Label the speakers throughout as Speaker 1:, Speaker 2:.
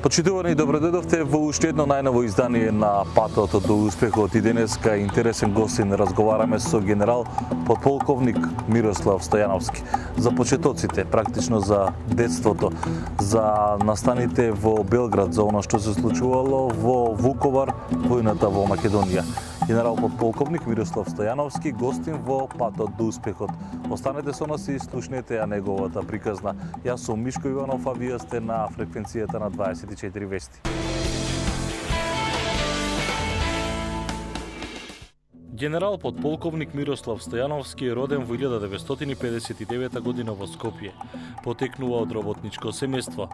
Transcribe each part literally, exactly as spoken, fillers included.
Speaker 1: Почитувани, добродојдовте во уште едно најново издание на Патот до успехот и денеска интересен гостин разговараме со генерал подполковник Мирослав Стојановски за почетоците, практично за детството, за настаните во Белград, за она што се случувало во Вуковар, војната во Македонија. Генерал подполковник Мирослав Стојановски, гостин во Патот до успехот. Останете со нас и слушнете ја неговата приказна. Јас сум Мишко Иванов, а вие сте на фреквенцијата на дваесет и четири вести. Генерал подполковник Мирослав Стојановски е роден во илјада деветстотини педесет и девета година во Скопје. Потекнува од работничко семејство.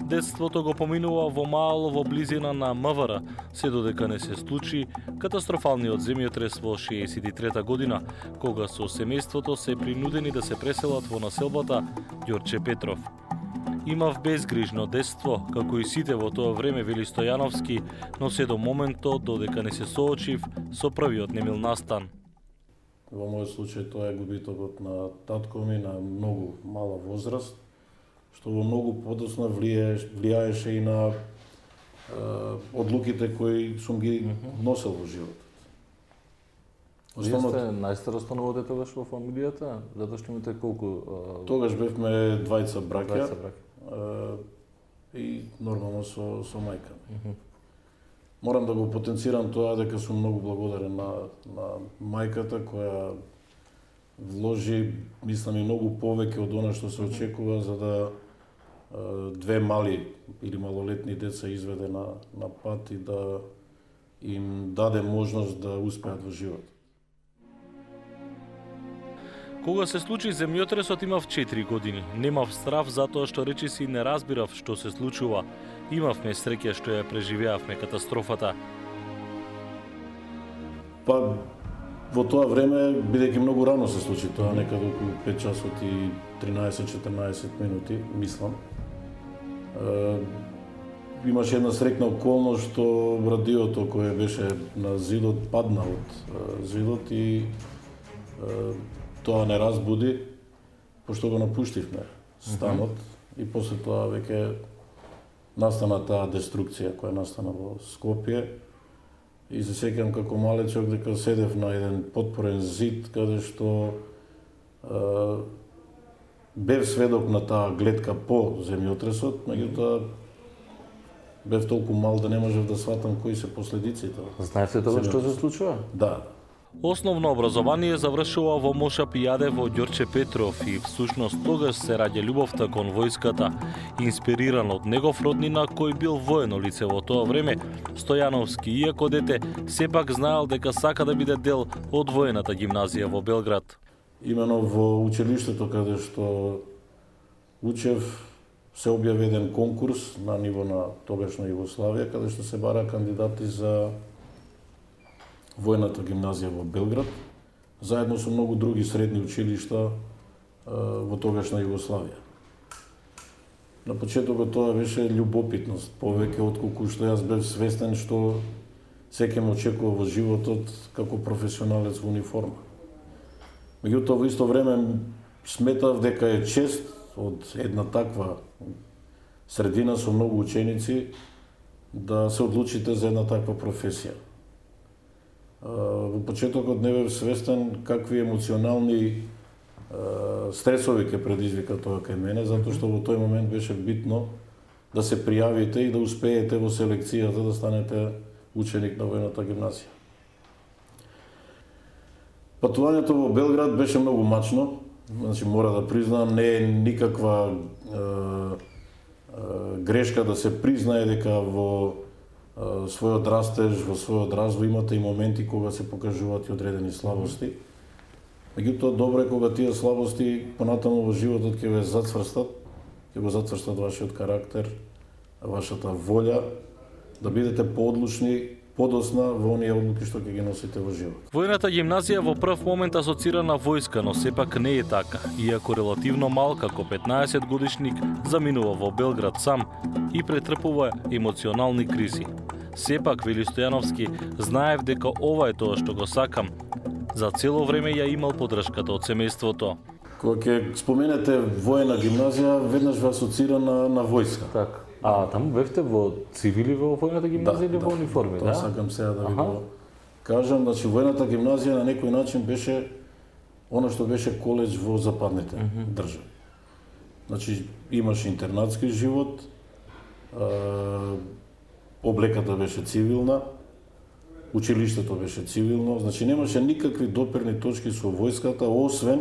Speaker 1: Детството го поминува во мало во близина на МВР, се додека не се случи катастрофалниот земјотрес во шеесет и трета година, кога со семејството се принудени да се преселат во населбата Ѓорче Петров. Имав безгрижно детство, како и сите во тоа време, вели Стојановски, но се до моментот додека не се соочив со првиот немил настан.
Speaker 2: Во мојот случај тоа е губитокот на татко ми на многу мала возраст, што во многу подоцна влијаеше, влијаеше и на е, одлуките кои сум ги носел во животот.
Speaker 1: Основно... Вие сте најстаростаново дете тогаш во фамилијата, затоа што имате колку... А...
Speaker 2: Тогаш бевме двајца браќа,
Speaker 1: двајца браќа.
Speaker 2: И нормално со, со мајка ми. Uh -huh. Морам да го потенцирам тоа дека сум многу благодарен на, на мајката која вложи, мислам, и многу повеќе од она што се очекува за да е, две мали или малолетни деца изведе на, на пат и да им даде можност да успеат во живот.
Speaker 1: Кога се случи земјотресот имав четири години. Немав страв затоа што речиси не разбирав што се случува. Имавме среќа што ја преживеавме катастрофата.
Speaker 2: Па во тоа време, бидејќи многу рано се случи тоа, некаде околу пет часот и тринаесет-четирнаесет минути, мислам. Е, имаше една среќна околност што радиото кое беше на зидот падна од е, зидот и е, тоа не разбуди, пошто го напуштивме станот uh -huh. и после тоа веќе настана таа деструкција која настана во Скопје. И се сеќам како малечок дека седев на еден потпорен зид каде што е, бев сведок на таа гледка по земјотресот, меѓутоа бев толку мал да не можев да сватам кои се последиците.
Speaker 1: Знаете тоа што се случува?
Speaker 2: Да.
Speaker 1: Основно образование завршува во Мошап и Јаде во Ѓорче Петров и всушност тогаш се раѓа љубовта кон војската. Инспириран од негов роднина кој бил воено лице во тоа време, Стојановски, иако дете, сепак знаел дека сака да биде дел од воената гимназија во Белград.
Speaker 2: Имено во училиштето каде што учев се објави еден конкурс на ниво на тогашна Југославија каде што се бара кандидати за војната гимназија во Белград, заедно со многу други средни училишта во тогашна Југославија. На почетокот тоа беше љубопитност, повеќе отколку што јас бев свестен што секој ме очекува во животот како професионалец во униформа. Меѓутоа во исто време сметав дека е чест од една таква средина со многу ученици да се одлучите за една таква професија. Во почетокот не бев свестен какви емоционални стресови ќе предизвика тоа кај мене, затоа што во тој момент беше битно да се пријавите и да успеете во селекцијата да станете ученик на војната гимназија. Патувањето во Белград беше многу мачно, значи мора да признам, не е никаква е, е, грешка да се признае дека во својот растеж, во својот развој имате и моменти кога се покажуваат и одредени слабости. Меѓутоа, добро е кога тие слабости понатаму во животот ќе ве зацврстат, ќе го зацврстат вашиот карактер, вашата волја, да бидете поодлучни, подосна во оние одлуки што ќе ги носите во живот.
Speaker 1: Војната гимназија во прв момент асоцира на војска, но сепак не е така. Иако релативно мал, како петнаесет годишник, заминува во Белград сам и претрпува емоционални кризи. Сепак, вели Стојановски, знаев дека ова е тоа што го сакам. За цело време ја имал поддршката од семејството.
Speaker 2: Кога ќе споменете воена гимназија, веднаш ве асоцира на, на војска.
Speaker 1: Така. А таму бевте во цивили во војната гимназија или во униформи,
Speaker 2: тоа
Speaker 1: да?
Speaker 2: сакам сега да ви го кажам, значи војната гимназија на некој начин беше она што беше колеџ во западните mm -hmm. држави. Значи имаше интернатски живот, а, облеката беше цивилна, училиштето беше цивилно, значи немаше никакви допирни точки со војската, освен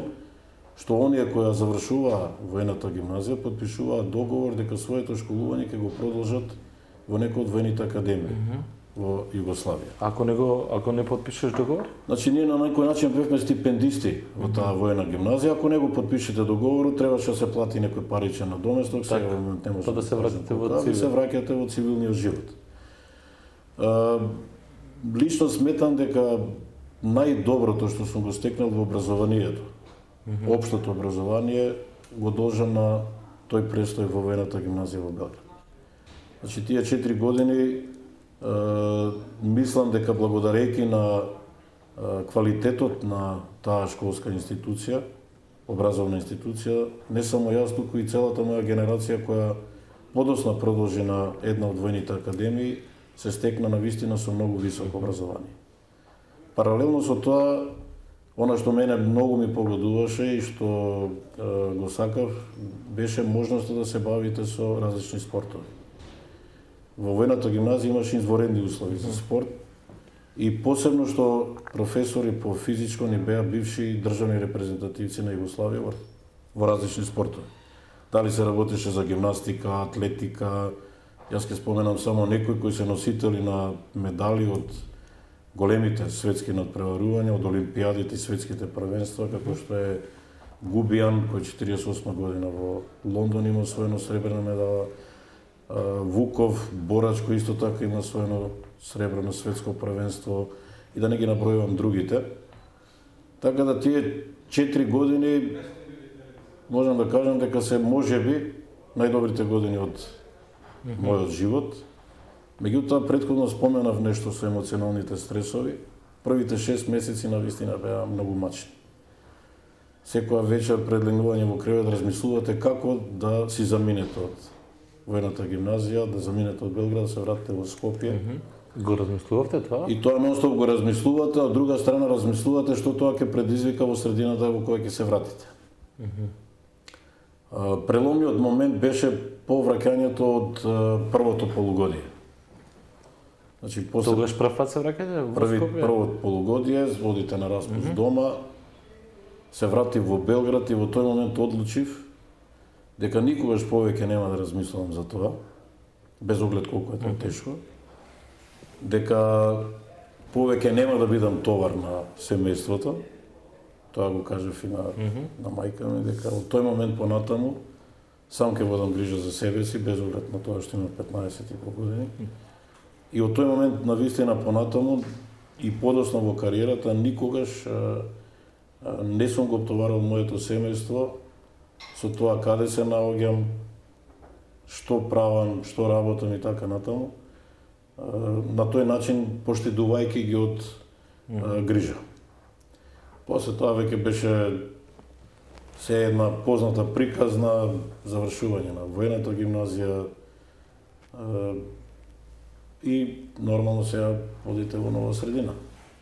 Speaker 2: што оние кои ја завршуваа војната гимназија потпишуваа договор дека своето школување ќе го продолжат во некој од војните академии mm -hmm. во Југославија.
Speaker 1: Ако не го ако не потпишеш договор?
Speaker 2: Значи ние на некој начин бевме стипендисти во таа војна гимназија, ако не го потпишете договорот, требаше да се плати некој паричен надоместок, сега во момент не може
Speaker 1: да, да се враќате во
Speaker 2: цивил. Да се враќате во цивилниот живот. А, лично сметам дека најдоброто што сум го стекнал во образованието, mm -hmm. општото образование, го должам на тој престој во војната гимназија во Белград. Значи тие четири години Uh, мислам дека благодарејќи на uh, квалитетот на таа школска институција, образовна институција, не само јас, туку и целата моја генерација која подосна продолжи на една од војните академии, се стекна на вистина со многу високо образование. Паралелно со тоа, она што мене многу ми погодуваше и што uh, го сакав, беше можноста да се бавите со различни спортови. Во војната гимназија имаше изворедни услови за спорт и посебно што професори по физичко ни беа бивши државни репрезентативци на Југославија во, во различни спортови. Дали се работеше за гимнастика, атлетика, јас ќе споменам само некои кои се носители на медали од големите светски надпреварувања, од олимпијадите и светските првенства, како што е Губијан, кој четириесет и осма година во Лондон има освоено сребрена медала, Вуков, борач кој исто така има своено сребрено светско првенство и да не ги набројувам другите. Така да тие четири години можам да кажам дека се можеби најдобрите години од mm -hmm. мојот живот. Меѓутоа претходно споменав нешто со емоционалните стресови. Првите шест месеци на вистина беа многу мачни. Секоја вечер пред легнување во кревет размислувате како да си заминете од војната гимназија, да заминете од Белград, да се вратите во Скопје. Mm
Speaker 1: -hmm. Го размислувавте тоа?
Speaker 2: И тоа нонстоп го размислувате, а од друга страна размислувате што тоа ќе предизвика во средината во која ќе се вратите. Mm -hmm. Преломниот момент беше повраќањето од првото полугодие. Значи, после...
Speaker 1: Тогаш прв пат се враќате во
Speaker 2: Први,
Speaker 1: Скопје?
Speaker 2: Првото полугодие, одите на распуст mm -hmm. дома, се вратив во Белград и во тој момент одлучив дека никогаш повеќе нема да размислувам за тоа, без оглед колку е тоа тешко, дека повеќе нема да бидам товар на семејството, тоа го кажав и на, mm -hmm. на мајка ми, дека од тој момент понатаму сам ќе водам грижа за себе си, без оглед на тоа што има петнаесет и пол години. Mm -hmm. И од тој момент на вистина понатаму и подосно во кариерата никогаш а, а, не сум го оптоварал моето семејство со тоа каде се наоѓам, што правам, што работам и така натаму, на тој начин поштедувајќи ги од mm. грижа. После тоа веќе беше се една позната приказна завршување на војната гимназија и нормално сега одите во нова средина.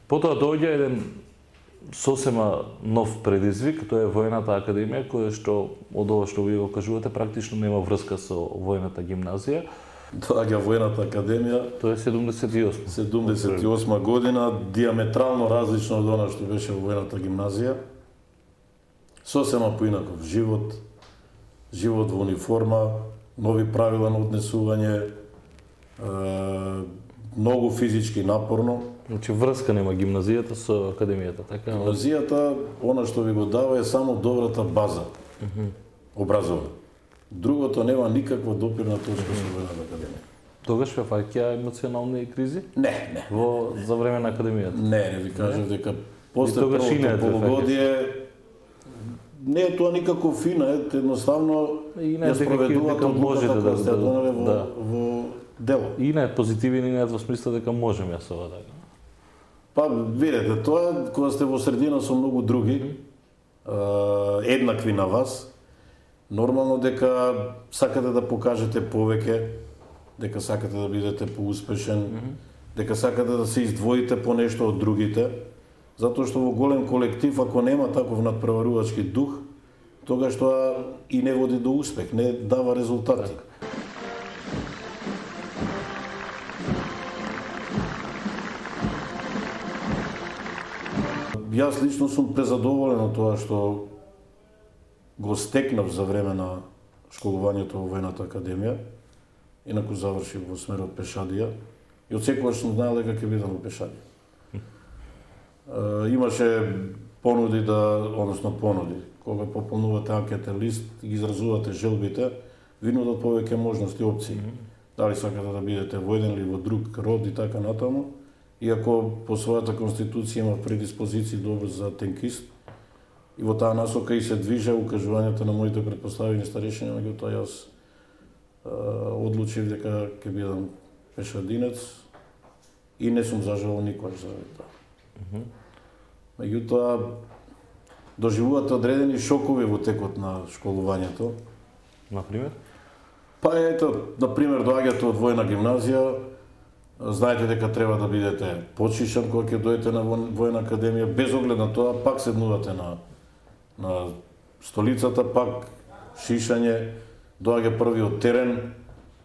Speaker 1: Потоа доаѓа еден сосема нов предизвик, тоа е војната академија, која што од ова што вие го кажувате практично нема врска со војната гимназија.
Speaker 2: Доаѓа војната академија.
Speaker 1: Тоа е седумдесет и осма.
Speaker 2: седумдесет и осма година, диаметрално различно од она што беше во војната гимназија. Сосема поинаков живот, живот во униформа, нови правила на однесување, е, многу физички напорно.
Speaker 1: Значи врска нема гимназијата со академијата, така?
Speaker 2: Гимназијата, она што ви го дава е само добрата база, mm -hmm. образовна. Другото нема никаква допирна точка mm -hmm. со војната академија.
Speaker 1: Тогаш ве фаќа емоционални кризи?
Speaker 2: Не, не.
Speaker 1: Во за време на академијата?
Speaker 2: Не, не ви кажав дека после првото полугодие не е тоа никако фина, е едноставно ја спроведуваат одлуката која сте донеле во, да. во дело.
Speaker 1: И не е позитивен и не е во смисла дека можем јас ова така.
Speaker 2: Па, видете, тоа кога сте во средина со многу други, mm -hmm. еднакви на вас, нормално дека сакате да покажете повеќе, дека сакате да бидете поуспешен, mm -hmm. дека сакате да се издвоите по нешто од другите, затоа што во голем колектив, ако нема таков надпреварувачки дух, тогаш тоа и не води до успех, не дава резултати. Так. Јас лично сум презадоволен од тоа што го стекнав за време на школувањето во војната академија, инаку завршив во смерот пешадија и од секогаш сум знаел дека ќе бидам во пешадија. Uh, имаше понуди да, односно понуди, кога пополнувате анкетен лист и изразувате желбите, ви нудат повеќе можности, опции. Mm -hmm. Дали сакате да бидете во еден или во друг род и така натаму, иако по својата конституција има предиспозиции добро за тенкист, и во таа насока и се движе укажувањето на моите претпоставени старешини, меѓутоа јас uh, одлучив дека ќе бидам пешадинец и не сум зажалал никош за тоа. Mm -hmm. Меѓутоа, доживувате одредени шокови во текот на школувањето.
Speaker 1: Например?
Speaker 2: Па ето, например, доаѓате од војна гимназија, знаете дека треба да бидете почишан кога ќе дојдете на војна академија, без оглед на тоа, пак седнувате на, на столицата, пак шишање, доаѓа првиот терен,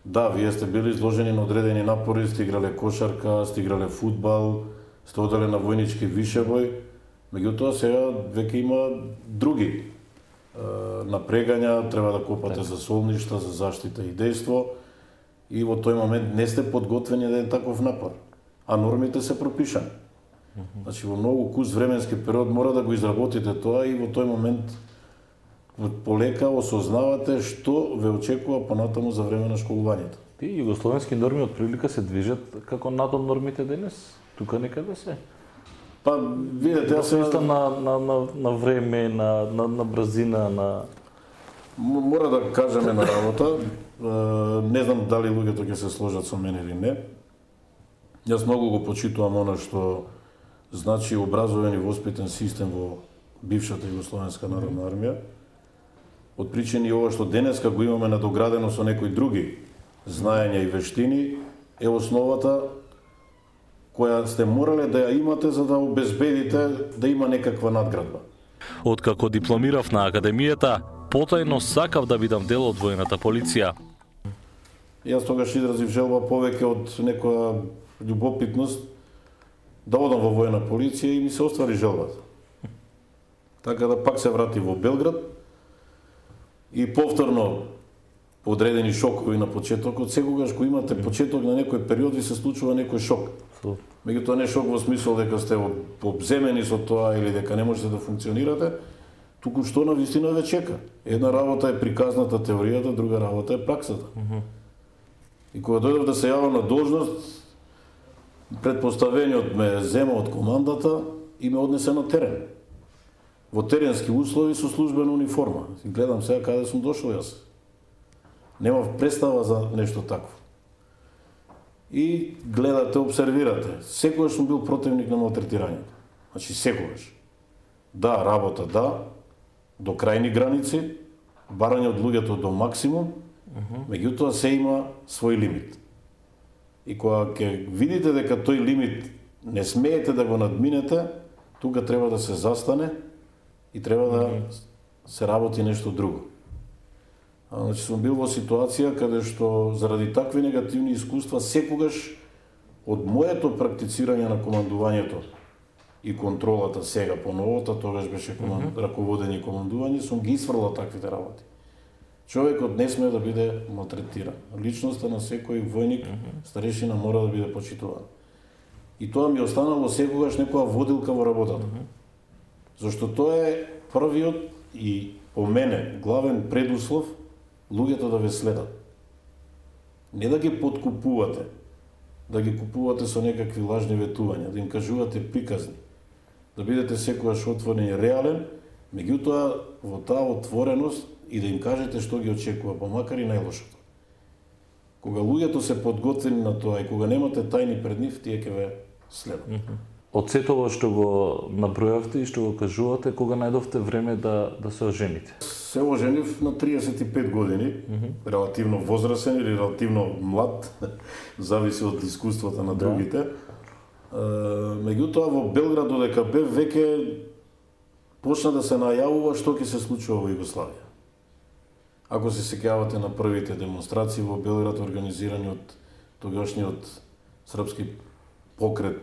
Speaker 2: да, вие сте били изложени на одредени напори, сте играле кошарка, сте играле фудбал, сте оделе на војнички вишебој, меѓутоа сега веќе има други е, напрегања, треба да копате так. За солништа, за заштита и дејство, и во тој момент не сте подготвени да е таков напор, а нормите се пропишани. Mm -hmm. Значи во многу кус временски период мора да го изработите тоа и во тој момент полека осознавате што ве очекува понатаму за време на школувањето.
Speaker 1: Тие југословенски норми од прилика се движат како надод нормите денес? Тука некаде се?
Speaker 2: Па, видете, јас
Speaker 1: се на, на, на, на време, на, на, на брзина, на...
Speaker 2: Мора да кажеме на работа, не знам дали луѓето ќе се сложат со мене или не. Јас многу го почитувам она што значи образовен и воспитен систем во бившата Југословенска народна армија. Од причини ова што денеска го имаме надоградено со некои други знаења и вештини, е основата која сте морале да ја имате за да обезбедите да има некаква надградба.
Speaker 1: Откако дипломирав на академијата, потајно сакав да бидам дел од војната полиција.
Speaker 2: Јас тогаш изразив желба повеќе од некоја љубопитност да одам во војна полиција и ми се оствари желбата. Така да пак се врати во Белград и повторно одредени шокови на почетокот. Секогаш кога имате почеток на некој период ви се случува некој шок. Меѓутоа не шок во смисол дека сте обземени со тоа или дека не можете да функционирате, туку што на вистина ве чека. Една работа е приказната теоријата, друга работа е праксата. Mm -hmm. И кога дојдов да се јавам на должност, предпоставениот ме зема од командата и ме однесе на терен. Во теренски услови со службена униформа. Гледам сега каде сум дошол јас. Немав представа за нешто такво. И гледате, обсервирате. Секогаш сум бил противник на малтретирањето. Значи секогаш. Да, работа, да, до крајни граници, барање од луѓето до максимум, uh -huh. меѓутоа се има свој лимит. И кога ќе видите дека тој лимит не смеете да го надминете, тука треба да се застане и треба да uh -huh. се работи нешто друго. Значи сум бил во ситуација каде што заради такви негативни искуства секогаш од моето практицирање на командувањето и контролата сега по новото, тогаш беше команд... mm -hmm. раководење и командување, сум ги исфрлал таквите работи. Човекот не сме да биде малтретиран. Личноста на секој војник, mm -hmm. старешина мора да биде почитуван. И тоа ми останало секогаш некоја водилка во работата. Mm -hmm. Зашто тоа е првиот и по мене главен предуслов луѓето да ве следат. Не да ги подкупувате, да ги купувате со некакви лажни ветувања, да им кажувате приказни, да бидете секогаш отворен и реален, меѓутоа во таа отвореност и да им кажете што ги очекува, па макар и најлошото. Кога луѓето се подготвени на тоа и кога немате тајни пред нив, тие ќе ве следат. Mm -hmm.
Speaker 1: од сето ова што го набројавте и што го кажувате, кога најдовте време да да се ожените?
Speaker 2: Се оженив на триесет и пет години, mm -hmm. релативно возрасен или релативно млад, зависи од искуствата на другите. Да. Меѓутоа во Белград додека бев веќе почна да се најавува што ќе се случува во Југославија. Ако се сеќавате на првите демонстрации во Белград организирани од тогашниот српски покрет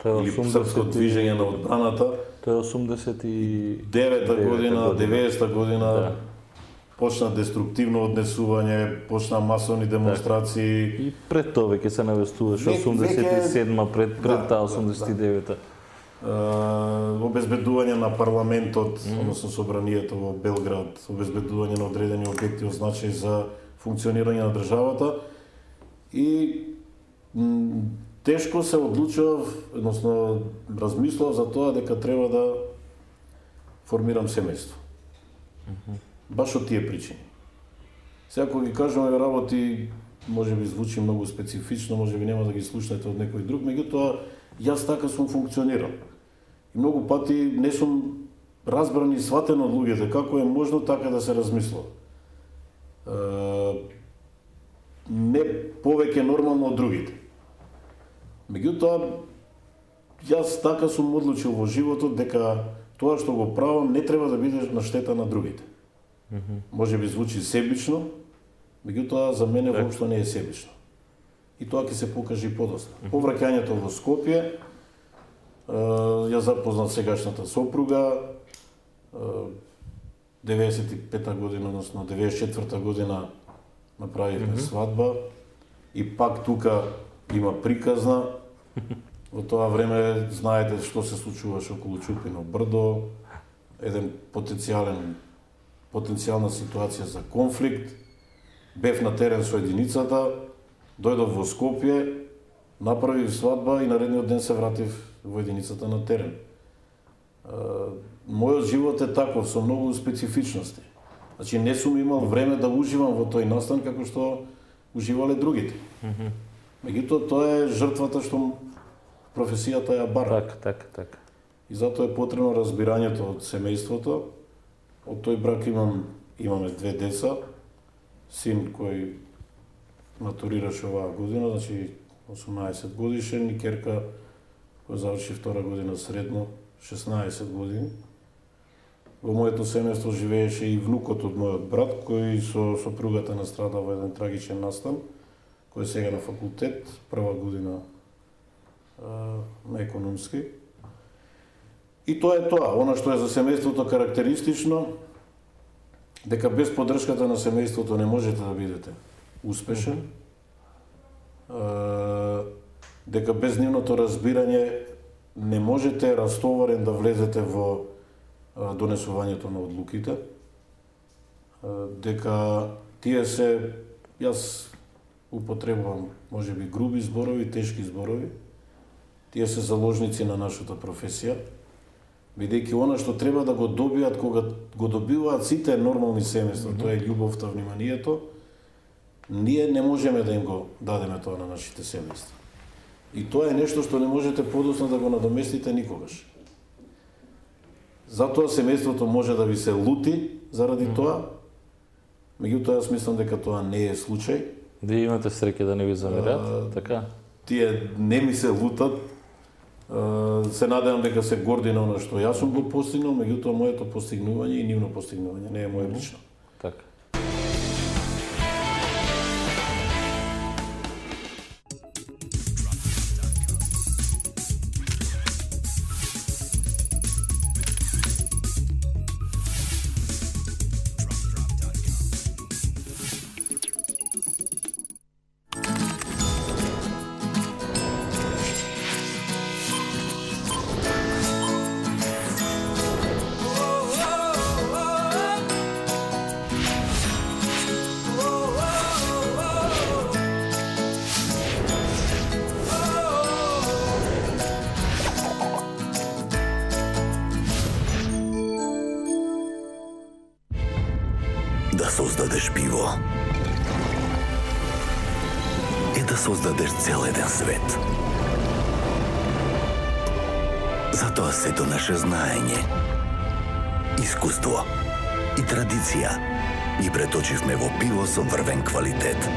Speaker 2: или српско движење на одбраната,
Speaker 1: тоа е осумдесет и
Speaker 2: девета година, деветдесета година, да. Почна деструктивно однесување, почна масовни демонстрации.
Speaker 1: И пред тоа веќе се навестуваше осумдесет и седма пред пред таа осумдесет и девета.
Speaker 2: Обезбедување на парламентот, mm. односно собранието во Белград, обезбедување на одредени објекти од значај за функционирање на државата и тешко се одлучував, односно размислував за тоа дека треба да формирам семејство. Mm -hmm. Баш од тие причини. Сега кога ги кажуваме работи, може би звучи многу специфично, може би нема да ги слушнете од некој друг, меѓутоа јас така сум функционирал. И многу пати не сум разбран и сватен од луѓето како е можно така да се размислува. Е, не повеќе нормално од другите. Меѓутоа, јас така сум одлучил во животот дека тоа што го правам не треба да биде на штета на другите. Mm -hmm. Може би звучи себично, меѓутоа за мене так. Воопшто не е себично. И тоа ќе се покаже и подоцна. Mm -hmm. По враќањето во Скопје, ја запознав сегашната сопруга, деветдесет и пета година, односно деветдесет и четврта година направивме mm -hmm. свадба и пак тука има приказна. Во тоа време знаете што се случуваше околу Чупино брдо, еден потенцијален потенцијална ситуација за конфликт. Бев на терен со единицата, дојдов во Скопје, направив свадба и наредниот ден се вратив во единицата на терен. Мојот живот е таков, со многу специфичности. Значи, не сум имал време да уживам во тој настан како што уживале другите. Mm -hmm. Меѓутоа, тоа е жртвата што професијата ја бара.
Speaker 1: Так, так, так.
Speaker 2: И затоа е потребно разбирањето од семејството. Од тој брак имам, имаме две деца, син кој матурираше оваа година, значи осумнаесет годишен, и керка која заврши втора година средно, шеснаесет години. Во моето семејство живееше и внукот од мојот брат, кој со сопругата настрадал во еден трагичен настан, кој е сега на факултет, прва година а, на економски. И тоа е тоа, она што е за семејството карактеристично, дека без поддршката на семејството не можете да бидете успешен, а, дека без нивното разбирање не можете растоварен да влезете во а, донесувањето на одлуките, а, дека тие се, јас употребувам можеби груби зборови, тешки зборови, тие се заложници на нашата професија, бидејќи она што треба да го добијат кога го добиваат сите нормални семејства, mm -hmm. тоа е љубовта, вниманието, ние не можеме да им го дадеме тоа на нашите семејства. И тоа е нешто што не можете подоцна да го надоместите никогаш. Затоа семејството може да ви се лути заради mm -hmm. тоа, меѓутоа јас мислам дека тоа не е случај.
Speaker 1: Вие имате среќа да не ви замерат, така?
Speaker 2: Тие не ми се лутат. Се надевам дека се горди на оно што јас сум го постигнал, меѓутоа моето постигнување и нивно постигнување не е моје лично.
Speaker 1: Така.
Speaker 3: Да создадеш пиво е да создадеш цел еден свет. Затоа сето наше знаење, искуство и традиција ги преточивме во пиво со врвен квалитет.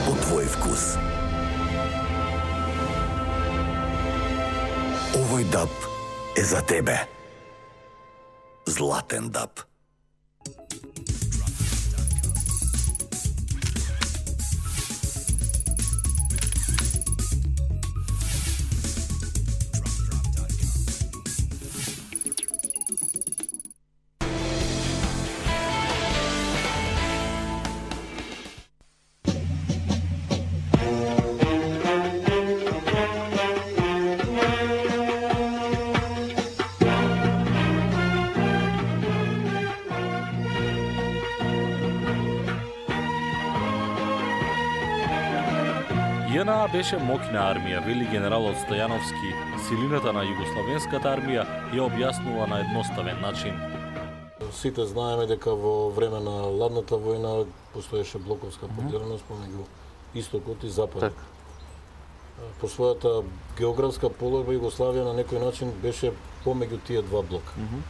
Speaker 3: По твој вкус. Овој даб е за тебе. Златен даб.
Speaker 1: ЈНА беше моќна армија, вели генералот Стојановски. Силината на југословенската армија ја објаснува на едноставен начин.
Speaker 2: Сите знаеме дека во време на ладната војна постоеше блоковска поделеност помеѓу истокот и западот.
Speaker 1: Так.
Speaker 2: По својата географска положба Југославија на некој начин беше помеѓу тие два блока. Mm -hmm.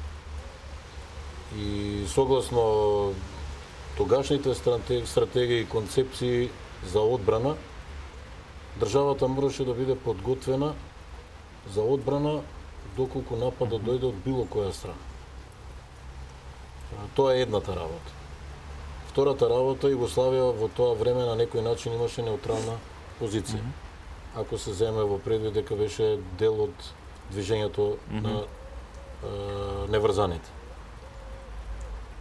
Speaker 2: И согласно тогашните стратегии и концепции за одбрана, државата мораше да биде подготвена за одбрана доколку нападот дојде од било која страна. Тоа е едната работа. Втората работа, Југославија во тоа време на некој начин имаше неутрална позиција. Mm -hmm. Ако се земе во предвид дека беше дел од движењето mm -hmm. на е, неврзаните.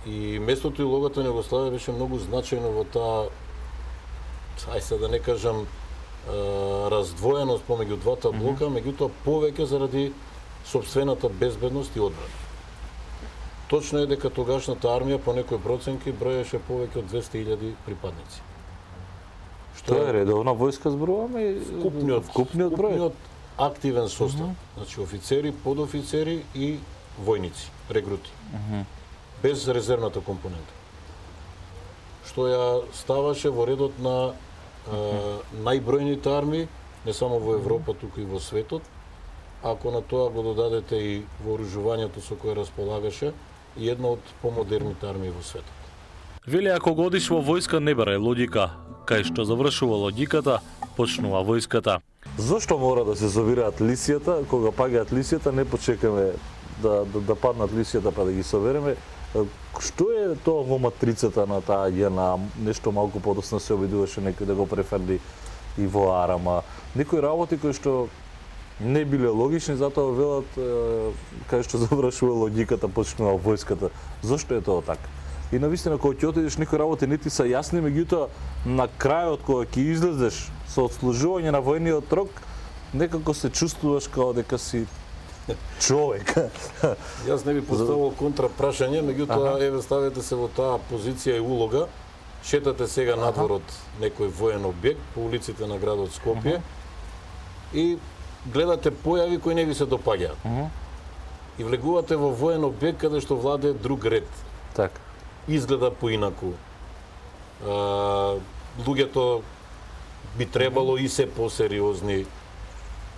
Speaker 2: И местото и улогата на Југославија беше многу значајно во таа, ај се да не кажам, раздвоеност помеѓу двата блока, mm -hmm. меѓутоа повеќе заради сопствената безбедност и одбрана. Точно е дека тогашната армија по некои проценки броеше повеќе од двесте илјади припадници.
Speaker 1: Што е редовна војска зборуваме?
Speaker 2: Вкупниот,
Speaker 1: вкупниот број? Вкупниот
Speaker 2: активен состав, mm -hmm. значи офицери, подофицери и војници, регрути. Mm -hmm. Без резервната компонента. Што ја ставаше во редот на Uh, најбројните армии, не само во Европа, туку и во светот. Ако на тоа го додадете и вооружувањето со кое располагаше, и една од помодерните армии во светот.
Speaker 1: Вели, ако годиш во војска не барај логика, кај што завршува логиката, почнува војската.
Speaker 4: Зошто мора да се собираат лисијата, кога паѓаат лисијата, не почекаме да, да, да паднат лисијата па да ги собереме? Што е тоа во матрицата на таа ЈНА? Нешто малку подоцна се обидуваше некој да го префрли и во Арама. Некои работи кои што не биле логични, затоа велат кај што завршува логиката, почнува војската. Зошто е тоа така? И навистина кога ќе отидеш, некои работи не ти се јасни, меѓутоа на крајот кога ќе излезеш со отслужување на војниот рок, некако се чувствуваш као дека си човек.
Speaker 2: Јас не би поставил контра прашање, меѓутоа еве ставете се во таа позиција и улога. Шетате сега надвор од некој воен објект по улиците на градот Скопје и гледате појави кои не ви се допаѓаат. И влегувате во воен објект каде што владее друг ред.
Speaker 4: Така.
Speaker 2: Изгледа поинаку. Луѓето би требало и се посериозни,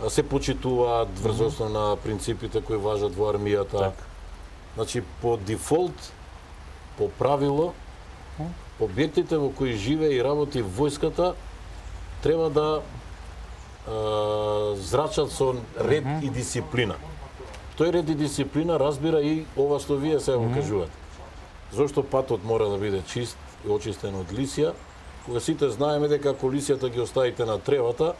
Speaker 2: се почитуваат врз на принципите кои важат во армијата.
Speaker 4: Так.
Speaker 2: Значи, по дефолт, по правило, објектите во кои живее и работи војската треба да е, зрачат со ред mm -hmm. и дисциплина. Тој ред и дисциплина разбира и ова што вие сега го кажувате. Зошто патот мора да биде чист и очистен од лисија, кога сите знаеме дека ако лисијата ги оставите на тревата,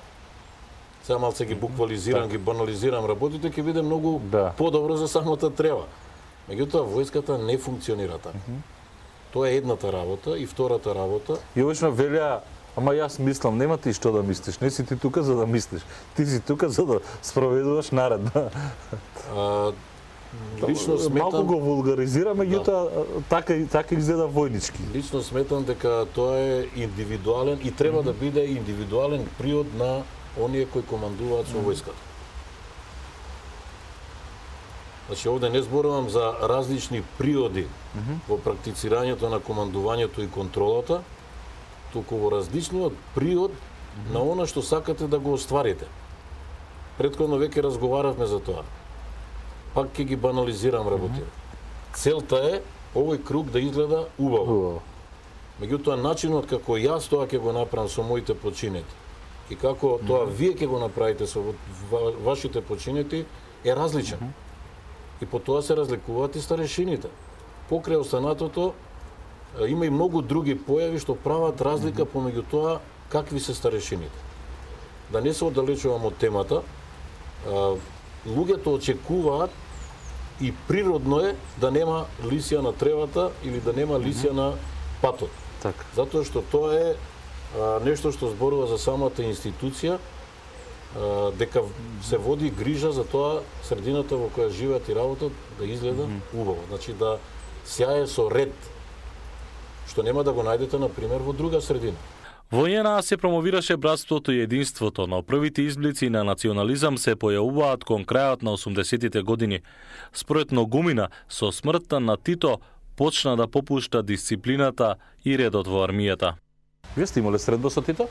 Speaker 2: сега малце ги буквализирам, так. ги банализирам работите, ќе биде многу
Speaker 4: да.
Speaker 2: подобро за самата трева. Меѓутоа, војската не функционира така. Mm -hmm. Тоа е едната работа и втората работа.
Speaker 4: И обично велја, ама јас мислам, нема ти што да мислиш, не си ти тука за да мислиш. Ти си тука за да спроведуваш наредба.
Speaker 2: А, лично сметам...
Speaker 4: Малку го вулгаризираме, меѓутоа да. така, така изгледа војнички.
Speaker 2: Лично сметам дека тоа е индивидуален и треба mm -hmm. да биде индивидуален приод на оние кои командуваат со војската. Значи, овде не зборувам за различни приоди mm -hmm. во практицирањето на командувањето и контролата, туку во различниот приод mm -hmm. на она што сакате да го остварите. Претходно веќе разговаравме за тоа. Пак ќе ги банализирам работите. Целта е овој круг да изгледа убаво. Меѓутоа, начинот како јас тоа ќе го направам со моите починети и како тоа вие ќе го направите со вашите починети е различен. И по тоа се разликуваат и старешините. Покрај останатото има и многу други појави што прават разлика помеѓу тоа какви се старешините. Да не се оддалечувам од темата, луѓето очекуваат и природно е да нема лисија на тревата или да нема лисија на патот.
Speaker 4: Така.
Speaker 2: Затоа што тоа е а, нешто што зборува за самата институција, а, дека се води грижа за тоа средината во која живеат и работат да изгледа mm -hmm. убаво. Значи да сјае со ред, што нема да го најдете, например, во друга средина.
Speaker 1: Во ЈНА се промовираше братството и единството, но првите изблици на национализам се појавуваат кон крајот на осумдесетите години. Според Ногумина, со смртта на Тито почна да попушта дисциплината и редот во армијата.
Speaker 4: Вие сте имале средба со Тито?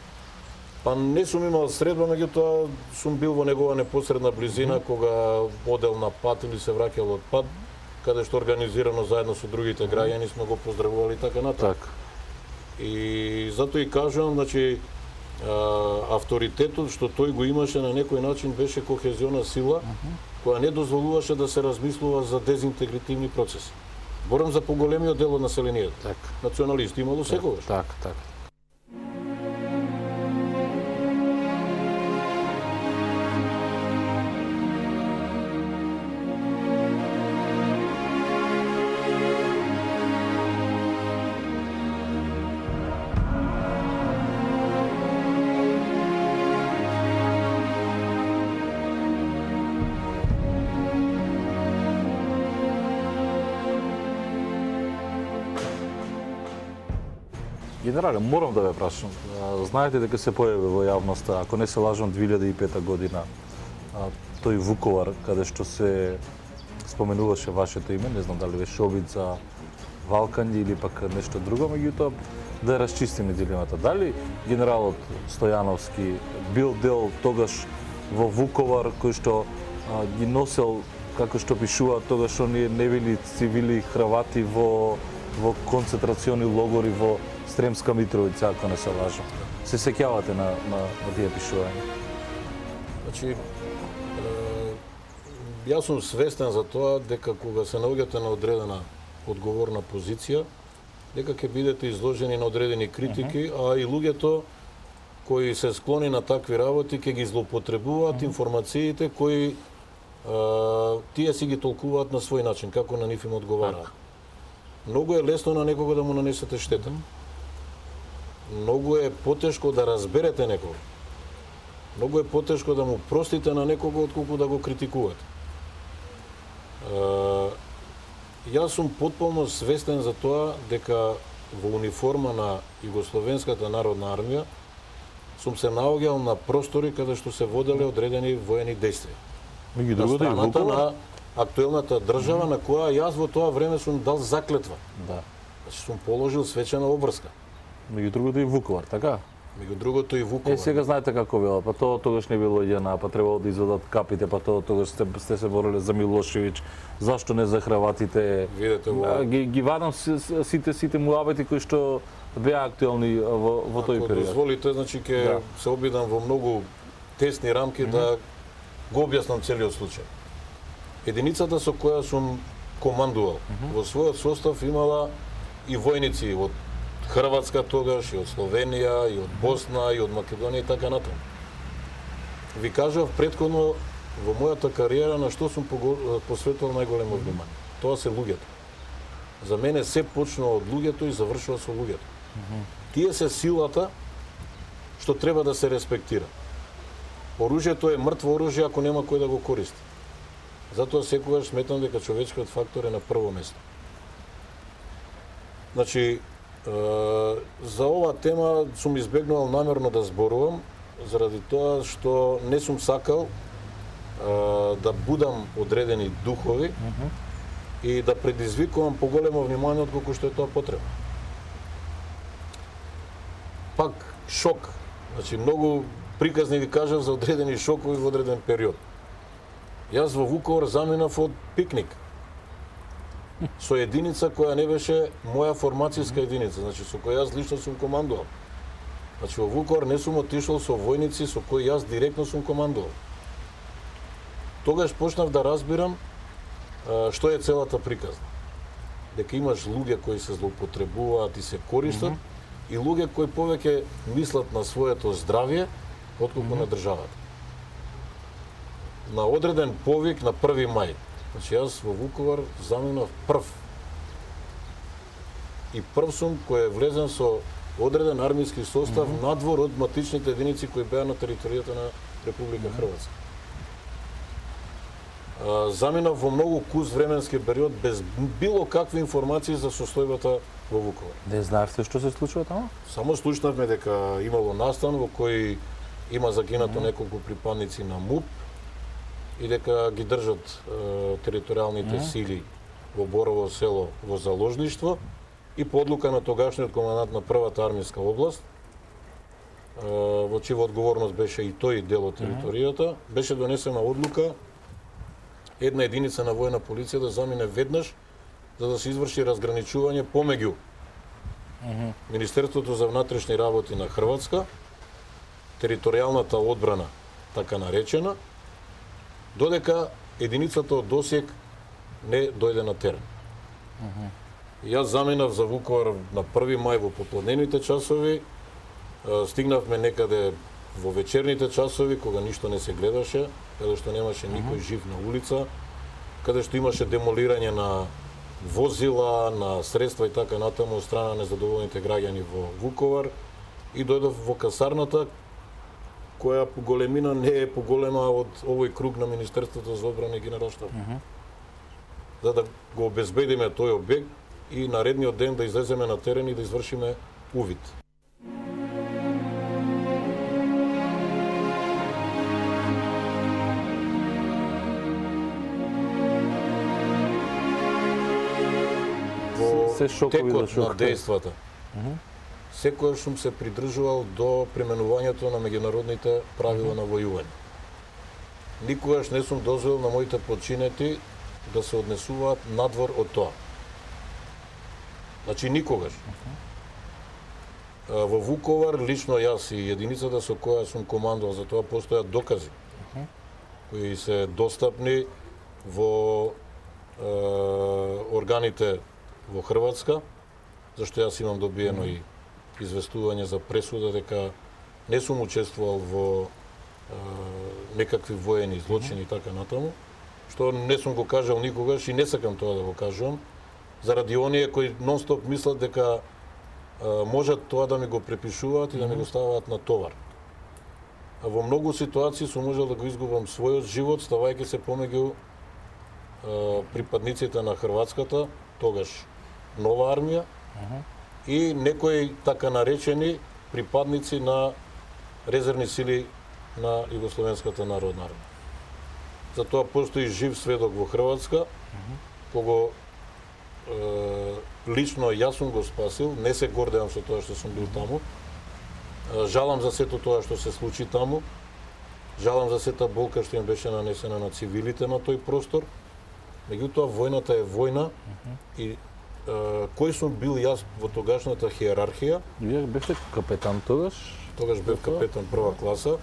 Speaker 2: Па не сум имал средба, меѓутоа сум бил во негова непосредна близина, mm -hmm. кога одел на пат или се враќал од пат, каде што организирано заедно со другите граѓани сме го поздравували така натаму.
Speaker 4: Так.
Speaker 2: И затоа и кажувам, значи, а, авторитетот што тој го имаше на некој начин беше кохезиона сила, uh -huh. која не дозволуваше да се размислува за дезинтегративни процеси. Борам за поголемиот дел од населението.
Speaker 4: Так.
Speaker 2: Националисти имало секогаш.
Speaker 4: Так, так. Генерале, морам да ве прашам. Знаете дека се појави во јавноста, ако не се лажам, две илјади и пета година, тој Вуковар, каде што се споменуваше вашето име, не знам дали беше обид за валкање или пак нешто друго, меѓутоа да расчистиме дилемата. Дали генералот Стојановски бил дел тогаш во Вуковар кој што а, ги носел, како што пишува, тогаш оние невини цивили Хрвати во во концентрациони логори во Сремска Митровица, ако не се лажам. Се сеќавате на, на, на тие пишувања?
Speaker 2: Значи, е, јас сум свестен за тоа дека кога се наоѓате на одредена одговорна позиција, дека ќе бидете изложени на одредени критики, uh -huh. а и луѓето кои се склони на такви работи ќе ги злоупотребуваат uh -huh. информациите кои е, тие си ги толкуваат на свој начин, како на нив им одговараат. Многу е лесно на некого да му нанесете штета. Многу е потешко да разберете некого. Многу е потешко да му простите на некого отколку да го критикувате. Е, јас сум потполно свестен за тоа дека во униформа на Југословенската народна армија сум се наоѓал на простори каде што се воделе одредени воени дејствија.
Speaker 4: Меѓу
Speaker 2: на
Speaker 4: другото и
Speaker 2: страната
Speaker 4: Вуковар?
Speaker 2: на актуелната држава на која јас во тоа време сум дал заклетва.
Speaker 4: Да.
Speaker 2: Значи сум положил свечена обврска.
Speaker 4: Меѓу другото и Вуковар, така?
Speaker 2: Меѓу другото и Вуковар.
Speaker 4: Е, сега знаете како било, па тоа тогаш не било ЈНА, па требало да извадат капите, па тоа тогаш сте, сте се бореле за Милошевиќ, зашто не за Хрватите?
Speaker 2: Видете во...
Speaker 4: А, ги, ги вадам сите сите муабети кои што беа актуелни во, во тој
Speaker 2: Ако
Speaker 4: период.
Speaker 2: дозволите, значи ќе
Speaker 4: Да.
Speaker 2: се обидам во многу тесни рамки mm -hmm. да го објаснам целиот случај. Единицата со која сум командувал, mm -hmm. во својот состав имала и војници од Хрватска тогаш, и од Словенија, и од Босна, и од Македонија и така натаму. Ви кажав претходно во мојата кариера на што сум посветувал најголемо внимание. Тоа се луѓето. За мене се почнува од луѓето и завршува со луѓето. Mm -hmm. Тие се силата што треба да се респектира. Оружјето е мртво оружје ако нема кој да го користи. Затоа секогаш сметам дека човечкиот фактор е на прво место. Значи, за ова тема сум избегнувал намерно да зборувам, заради тоа што не сум сакал да будам одредени духови mm -hmm. и да предизвикувам поголемо внимание отколку што е тоа потребно. Пак шок. Значи многу приказни ви кажав за одредени шокови во одреден период. Јас во Вуковар заминав од пикник со единица која не беше моја формацијска единица, значи со која јас лично сум командувал. Значи во Вуковар не сум отишол со војници со кои јас директно сум командувал. Тогаш почнав да разбирам а, што е целата приказна. Дека имаш луѓе кои се злоупотребуваат и се користат, mm -hmm. и луѓе кои повеќе мислат на своето здравје отколку mm -hmm. на државата. На одреден повик на први мај. Значи јас во Вуковар заминав прв. И прв сум кој е влезен со одреден армијски состав mm -hmm. надвор од матичните единици кои беа на територијата на Република mm -hmm. Хрватска. Заминав во многу кус временски период без било какви информации за состојбата во Вуковар.
Speaker 4: Не знаевте што се случува таму?
Speaker 2: Само слушнавме дека имало настан во кој има загинато mm -hmm. неколку припадници на МУП и дека ги држат е, територијалните mm -hmm. сили во Борово село во заложништво и по одлука на тогашниот командант на првата армијска област, е, во чија одговорност беше и тој дел од територијата, mm -hmm. беше донесена одлука една единица на војна полиција да замине веднаш за да се изврши разграничување помеѓу mm -hmm. Министерството за внатрешни работи на Хрватска, територијалната одбрана, така наречена, додека единицата од Досиек не дојде на терен. Mm -hmm. Јас заминав за Вуковар на први мај во попладневните часови, стигнавме некаде во вечерните часови, кога ништо не се гледаше, каде што немаше никој жив на улица, каде што имаше демолирање на возила, на средства и така натаму од страна на незадоволните граѓани во Вуковар, и дојдов во касарната, која по големина не е поголема од овој круг на Министерството за одбрана и Генералштаб. Mm -hmm. За да го обезбедиме тој објект и наредниот ден да излеземе на терен и да извршиме увид.
Speaker 4: Се шокови
Speaker 2: текот
Speaker 4: да
Speaker 2: на дејствата. Mm -hmm. Секојаш сум се придржувал до применувањето на меѓународните правила mm -hmm. на војување. Никогаш не сум дозволил на моите подчинети да се однесуваат надвор од тоа. Значи никогаш. Mm -hmm. Во Вуковар лично јас и единицата со која сум командувал, за тоа постојат докази mm -hmm. кои се достапни во е, органите во Хрватска, зашто јас имам добиено mm -hmm. и известување за пресуда дека не сум учествувал во е, некакви воени злочини и mm -hmm. така натаму, што не сум го кажал никогаш и не сакам тоа да го кажувам, заради оние кои нон-стоп мислат дека е, можат тоа да ми го препишуваат mm -hmm. и да ми го ставаат на товар. А во многу ситуации сум можел да го изгубам својот живот, ставајќи се помеѓу е, припадниците на Хрватската, тогаш нова армија, uh -huh. и некои така наречени припадници на резервни сили на Југословенската народна армија. Затоа постои жив сведок во Хрватска, uh -huh. кого е, лично јас сум го спасил, не се гордеам со тоа што сум бил таму. Е, жалам за сето тоа што се случи таму. Жалам за сета болка што им беше нанесена на цивилите на тој простор. Меѓутоа војната е војна, uh -huh. и Uh, кој сум бил јас во тогашната хиерархија?
Speaker 4: Вие бевте капетан тогаш?
Speaker 2: Тогаш бев капетан прва класа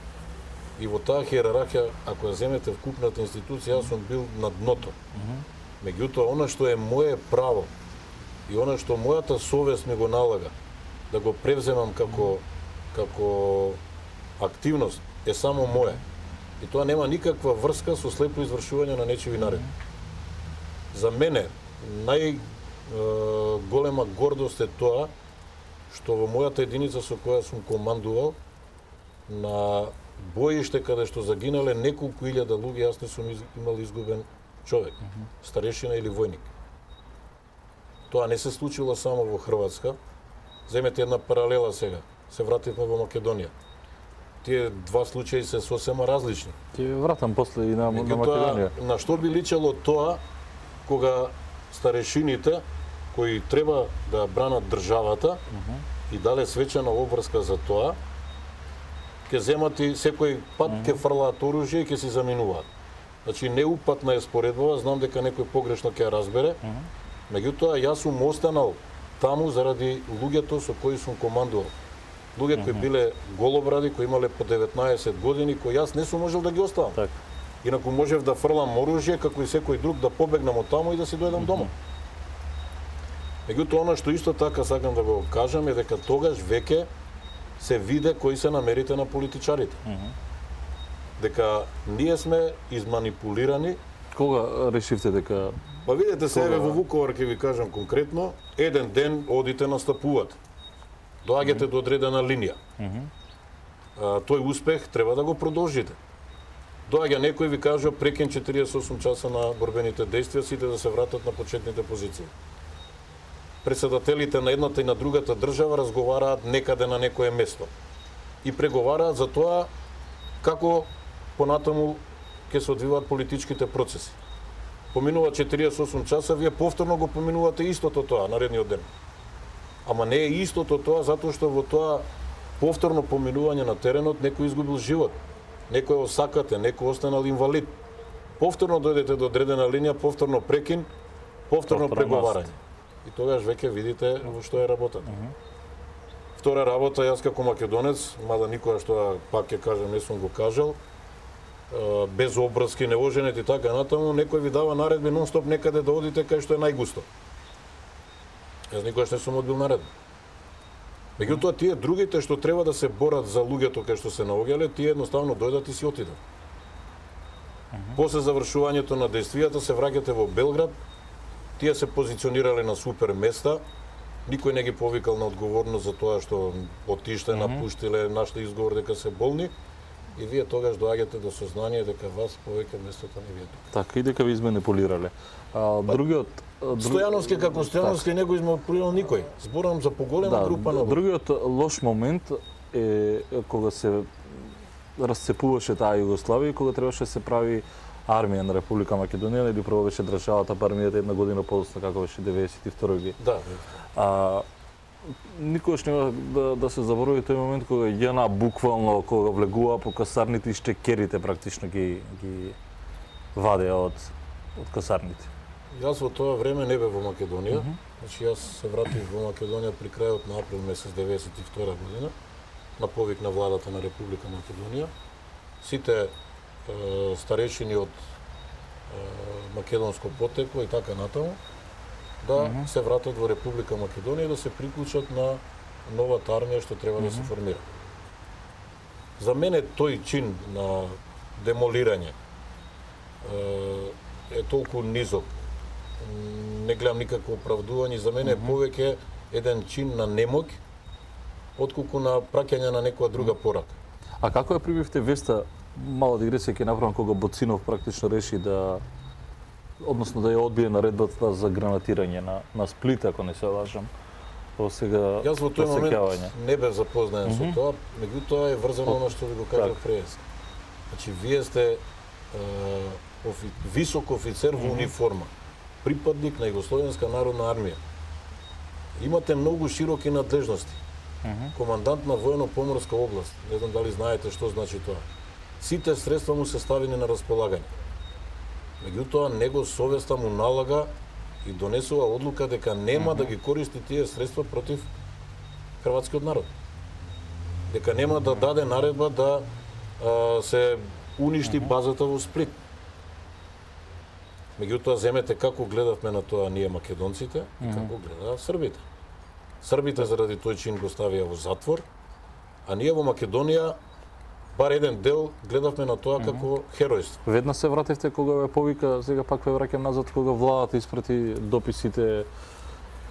Speaker 2: и во таа хиерархија, ако ја земете вкупната институција, јас сум бил на дното. Uh -huh. Меѓутоа, она што е моје право и она што мојата совест ми го налага да го превземам како како активност е само моје. И тоа нема никаква врска со слепо извршување на нечиви наредби. За мене нај голема гордост е тоа што во мојата единица со која сум командувал на боиште каде што загинале неколку илјада луѓе, јас не сум имал изгубен човек, uh -huh. старешина или војник. Тоа не се случило само во Хрватска. Земете една паралела сега. Се вративме во Македонија. Тие два случаи се сосема различни.
Speaker 4: Ти вратам после и на, на Македонија.
Speaker 2: На што би личело тоа кога старешините кои треба да бранат државата uh -huh. и дале свечена обврска за тоа, ќе земат и секој пат ќе фрлаат оружје и ќе си заминуваат. Значи неупатна е споредбава, знам дека некој погрешно ќе ја разбере. Меѓутоа јас сум останал таму заради луѓето со кои сум командувал. Луѓе кои биле голобради, кои имале по деветнаесет години, кои јас не сум можел да ги оставам.
Speaker 4: Така.
Speaker 2: Инаку можев да фрлам оружје како и секој друг, да побегнам од таму и да си дојдам дома. Меѓутоа, она што исто така сакам да го кажам е дека тогаш веќе се виде кои се намерите на политичарите. Дека ние сме изманипулирани.
Speaker 4: Кога решивте дека
Speaker 2: Па видете се,
Speaker 4: Кога?
Speaker 2: еве во Вуковар ќе ви кажам конкретно, еден ден одите настапувате. Доаѓате до одредена линија. А, тој успех треба да го продолжите. Доаѓа некој и ви кажа прекин четириесет и осум часа на борбените действија, сите да се вратат на почетните позиции. Председателите на едната и на другата држава разговараат некаде на некое место и преговараат за тоа како понатаму ќе се одвиваат политичките процеси. Поминува четириесет и осум часа, вие повторно го поминувате истото тоа наредниот ден. Ама не е истото тоа затоа што во тоа повторно поминување на теренот некој изгубил живот, некој осакате, некој останал инвалид. Повторно дојдете до одредена линија, повторно прекин, повторно
Speaker 4: Повторно
Speaker 2: преговарање. И тогаш веќе видите во што е работата. Втора работа, јас како македонец, мада никогаш тоа пак ќе кажам, не сум го кажал, е, без обрски, неоженет и така натаму, некој ви дава наредби нон-стоп некаде да одите кај што е најгусто. Јас никогаш не сум одбил наредба. Меѓутоа, тие другите што треба да се борат за луѓето кај што се наоѓале, тие едноставно дојдат и си отидат. После завршувањето на действијата се враќате во Белград, тие се позиционирале на супер места, никој не ги повикал на одговорност за тоа што отиште, напуштиле, нашли изговор дека се болни, и вие тогаш доаѓате до сознание дека вас повеќе местото не ви е тука.
Speaker 4: така и дека ви изманипулирале. А другиот друг...
Speaker 2: Стојановски како Стојановски не го изманипулирал никој. Зборам за поголема
Speaker 4: да,
Speaker 2: група на луѓе.
Speaker 4: другиот лош момент е кога се расцепуваше таа Југославија и кога требаше да се прави армија на Република Македонија, или прво беше државата, па армијата една година подоцна како беше деветдесет и втора година.
Speaker 2: Да.
Speaker 4: А никогаш нема да, да се заборави тој момент кога ЈНА буквално кога влегува по касарните и штекерите практично ги ги вадеа од од касарните.
Speaker 2: Јас во тоа време не бев во Македонија. Значи јас се вратив во Македонија при крајот на април месец деветдесет и втора година на повик на владата на Република Македонија. Сите е, старешини од е, македонско потекло и така натаму да mm -hmm. се вратат во Република Македонија и да се приклучат на новата армија што треба mm -hmm. да се формира. За мене тој чин на демолирање е, е толку низок. Не гледам никакво оправдување, за мене е mm -hmm. повеќе еден чин на немоќ отколку на праќање на некоја друга порака.
Speaker 4: А како ја прибивте веста, мала дигресија ќе направам, кога Боцинов практично реши да односно да ја одбие наредбата за гранатирање на на Сплит, ако не се лажам. Во сега
Speaker 2: Јас во тој момент
Speaker 4: посеќавање.
Speaker 2: не бев запознаен mm -hmm. со тоа, меѓутоа е врзано она што ви го кажав
Speaker 4: Так.
Speaker 2: преес. Значи вие сте е, офи, висок офицер во униформа, припадник на Југословенска народна армија. Имате многу широки надлежности. Командант на воено-поморска област. Не знам дали знаете што значи тоа. Сите средства му се ставени на располагање. Меѓутоа, него совеста му налага и донесува одлука дека нема mm -hmm. да ги користи тие средства против хрватскиот народ. Дека нема да даде наредба да а, се уништи mm -hmm. базата во Сплит. Меѓутоа, земете како гледавме на тоа ние македонците mm -hmm. и како гледаат србите. Србите заради тој чин го ставија во затвор, а ние во Македонија бар еден дел гледавме на тоа како херојство.
Speaker 4: Веднаш се вративте кога ве повика, сега пак ве враќам назад кога владата испрати дописите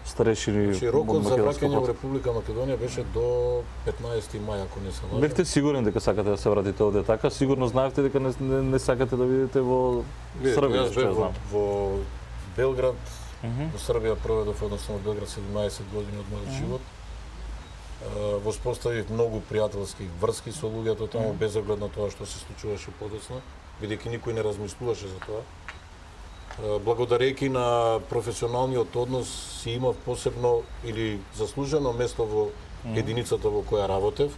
Speaker 4: старешини.
Speaker 2: Значи рокот за враќање во Република Македонија беше до петнаесети мај, ако не се лажам.
Speaker 4: Бевте сигурен дека сакате да се вратите овде така? Сигурно знаевте дека не, не, не сакате да видите во Србија,
Speaker 2: Јас
Speaker 4: што ја
Speaker 2: бев
Speaker 4: знам.
Speaker 2: во, во Белград, во Србија проведов едноставно во Белград седумнаесет години од мојот живот. Воспоставив многу пријателски врски со луѓето таму, без оглед на тоа што се случуваше подоцна, бидејќи никој не размислуваше за тоа. Благодарејќи на професионалниот однос си имав посебно или заслужено место во единицата во која работев.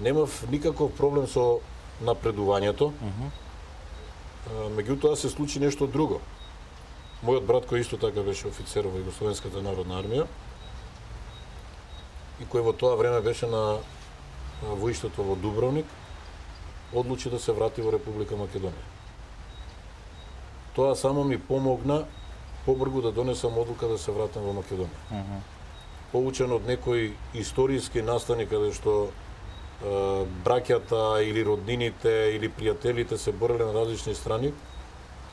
Speaker 2: Немав никаков проблем со напредувањето. Меѓутоа се случи нешто друго. Мојот брат, кој исто така беше офицер во Југословенската народна армија и кој во тоа време беше на воиштето во Дубровник, одлучи да се врати во Република Македонија. Тоа само ми помогна побргу да донесам одлука да се вратам во Македонија. Uh -huh. Поучен од некои историски настани каде што е, браќата или роднините или пријателите се бореле на различни страни,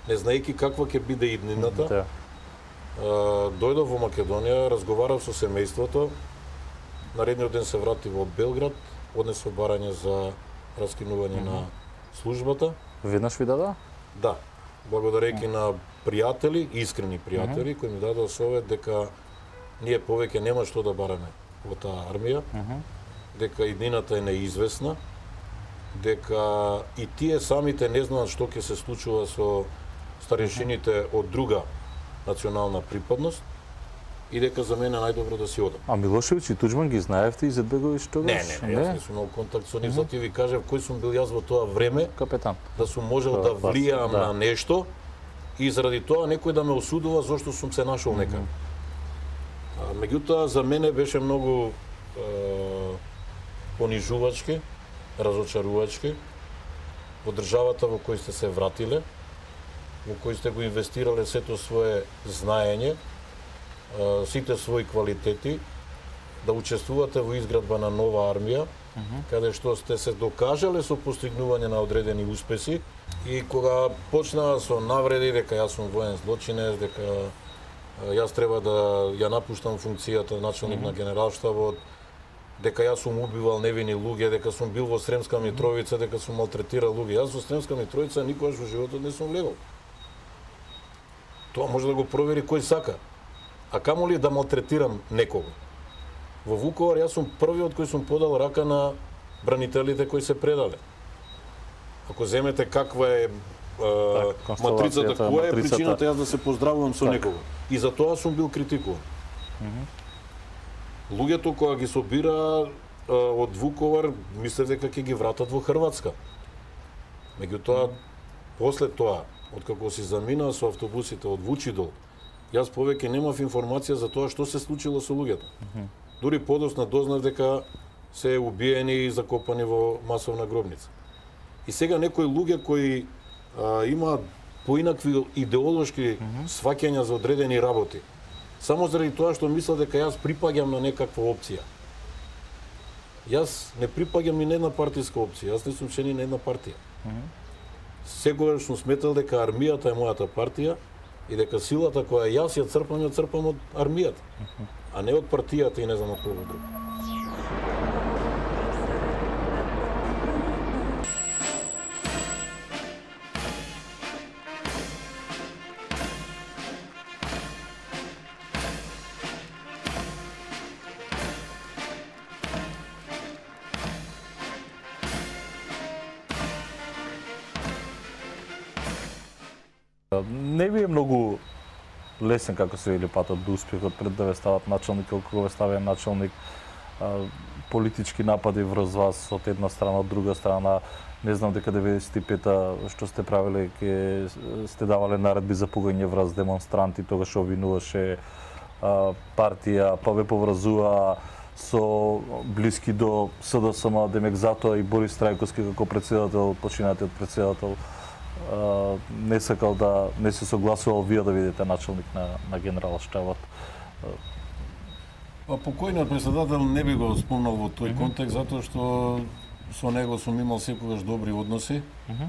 Speaker 2: не знаејќи каква ќе биде иднината, uh -huh. е, дојдов во Македонија, разговарав со семејството, наредниот ден се врати во Белград, однесов барање за раскинување uh -huh. на службата.
Speaker 4: Веднаш ви дада?
Speaker 2: Да. Благодарејќи на пријатели, искрени пријатели, uh -huh. кои ми дадоа совет дека ние повеќе нема што да бараме во таа армија, uh -huh. дека иднината е неизвестна, дека и тие самите не знаат што ќе се случува со старешините од друга национална припадност и дека за мене најдобро да си одам.
Speaker 4: А Милошевиќ и Туџман ги знаевте Изетбеговиќ тогаш?
Speaker 2: Не, не, не, јас не сум имал контакт со нив, затоа ти ви кажав кој сум бил јас во тоа време,
Speaker 4: капетан,
Speaker 2: да сум можел да влијам да. на нешто и заради тоа некој да ме осудува зашто сум се нашол mm -hmm. нека. А, меѓутоа за мене беше многу е, понижувачки, разочарувачки во државата во кој сте се вратиле, во кој сте го инвестирале сето свое знаење, сите своји квалитети, да учествувате во изградба на нова армија, uh -huh. каде што сте се докажале со постигнување на одредени успеси и кога почнаа со навреди дека јас сум воен злочинец, дека јас треба да ја напуштам функцијата началник uh -huh. на генералштабот, дека јас сум убивал невини луѓе, дека сум бил во Сремска Митровица, дека сум малтретирал луѓе. Јас во Сремска Митровица никогаш во животот не сум влегол. Тоа може да го провери кој сака. А камо ли да малтретирам некого? Во Вуковар јас сум првиот кој сум подал рака на бранителите кои се предале. Ако земете каква е, е так, матрицата, која е причината јас да се поздравувам со так. некого? И за тоа сум бил критикуван. Mm -hmm. Луѓето која ги собира е, од Вуковар, мислев дека ќе ги вратат во Хрватска. Меѓутоа, после тоа, откако си замина со автобусите од Вучидол, јас повеќе немав информација за тоа што се случило со луѓето. Mm -hmm. Дури подоцна дознав дека се убиени и закопани во масовна гробница. И сега некои луѓе кои а, имаат поинакви идеолошки mm -hmm. сваќања за одредени работи, само заради тоа што мислат дека јас припаѓам на некаква опција. Јас не припаѓам ни на една партиска опција, јас не сум член ни на една партија. Mm -hmm. Секогаш сум сметал дека армијата е мојата партија и дека силата која јас ја црпам, ја црпам од армијата, а не од партијата и не знам од кого друго.
Speaker 4: Не ви е многу лесен како се вели патот до успехот пред да ве стават началник, или кога ве ставија началник, политички напади врз вас од една страна, од друга страна. Не знам дека деветдесет и пета што сте правиле, ке сте давале наредби за пугање врз демонстранти, тогаш обвинуваше партија, па ве поврзува со блиски до С Д С М, демек затоа и Борис Трајковски како председател, починатиот председател, Uh, не сакал да не се согласувал вие да видите началник на, на генералштабот.
Speaker 2: Па покојниот председател не би го спомнал во тој mm -hmm. контекст, затоа што со него сум имал секогаш добри односи, mm -hmm.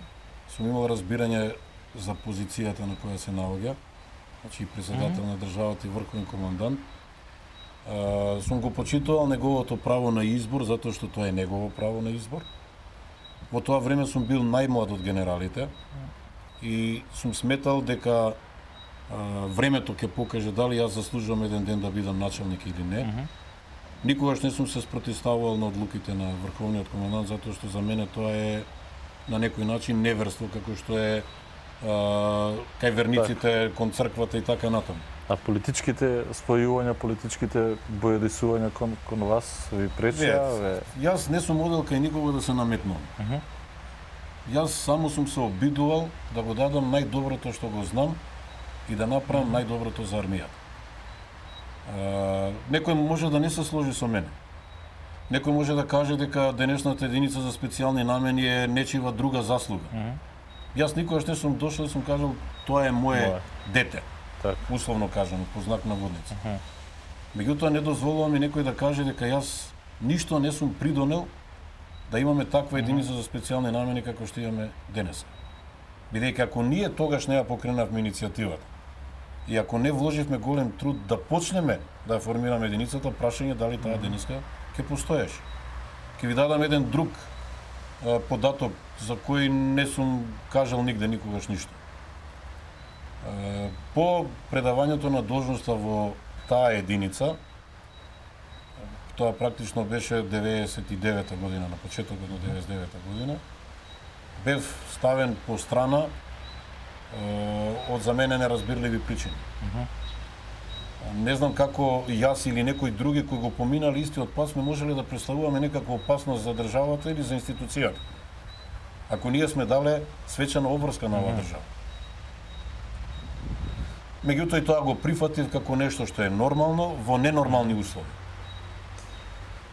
Speaker 2: сум имал разбирање за позицијата на која се наоѓа, значи председател mm -hmm. на државата и врховен командант. Uh, сум го почитувал неговото право на избор, затоа што тоа е негово право на избор. Во тоа време сум бил најмлад од генералите и сум сметал дека а, времето ќе покаже дали јас заслужувам еден ден да бидам началник или не. Mm -hmm. Никогаш не сум се спротивставувал на одлуките на врховниот командант, затоа што за мене тоа е на некој начин неверство, како што е а, кај верниците, кон црквата и така натаму.
Speaker 4: А политичките спојувања, политичките бојадисувања кон, кон вас ви пречеа? Ве...
Speaker 2: Јас не сум одел кај никога да се наметнувам. Uh -huh. Јас само сум се обидувал да го дадам најдоброто што го знам и да направам најдоброто за армијата. Uh, некој може да не се сложи со мене. Некој може да каже дека денешната единица за специјални намени е нечива друга заслуга. Uh -huh. Јас никогаш не сум дошол и сум кажал тоа е мое Моje. дете. Так. Условно кажано, по знак на водница. Uh -huh. Меѓутоа не дозволувам и некој да каже дека јас ништо не сум придонел да имаме таква единица uh -huh. за специјални намени како што имаме денес. Бидејќи ако ние тогаш не ја покренавме иницијативата и ако не вложивме голем труд да почнеме да ја формираме единицата, прашање дали таа единица ќе постоеше. Ќе ви дадам еден друг а, податок за кој не сум кажал нигде никогаш ништо. А, по предавањето на должноста во таа единица, тоа практично беше деветдесет и девета година, на почетокот на деветдесет и девета година, бев ставен по страна од за мене неразбирливи причини. Uh -huh. Не знам како јас или некои други кои го поминали истиот пат сме можеле да представуваме некаква опасност за државата или за институцијата. Ако ние сме дале свечена обврска на оваа uh -huh. држава. Меѓутоа и тоа го прифатив како нешто што е нормално во ненормални услови.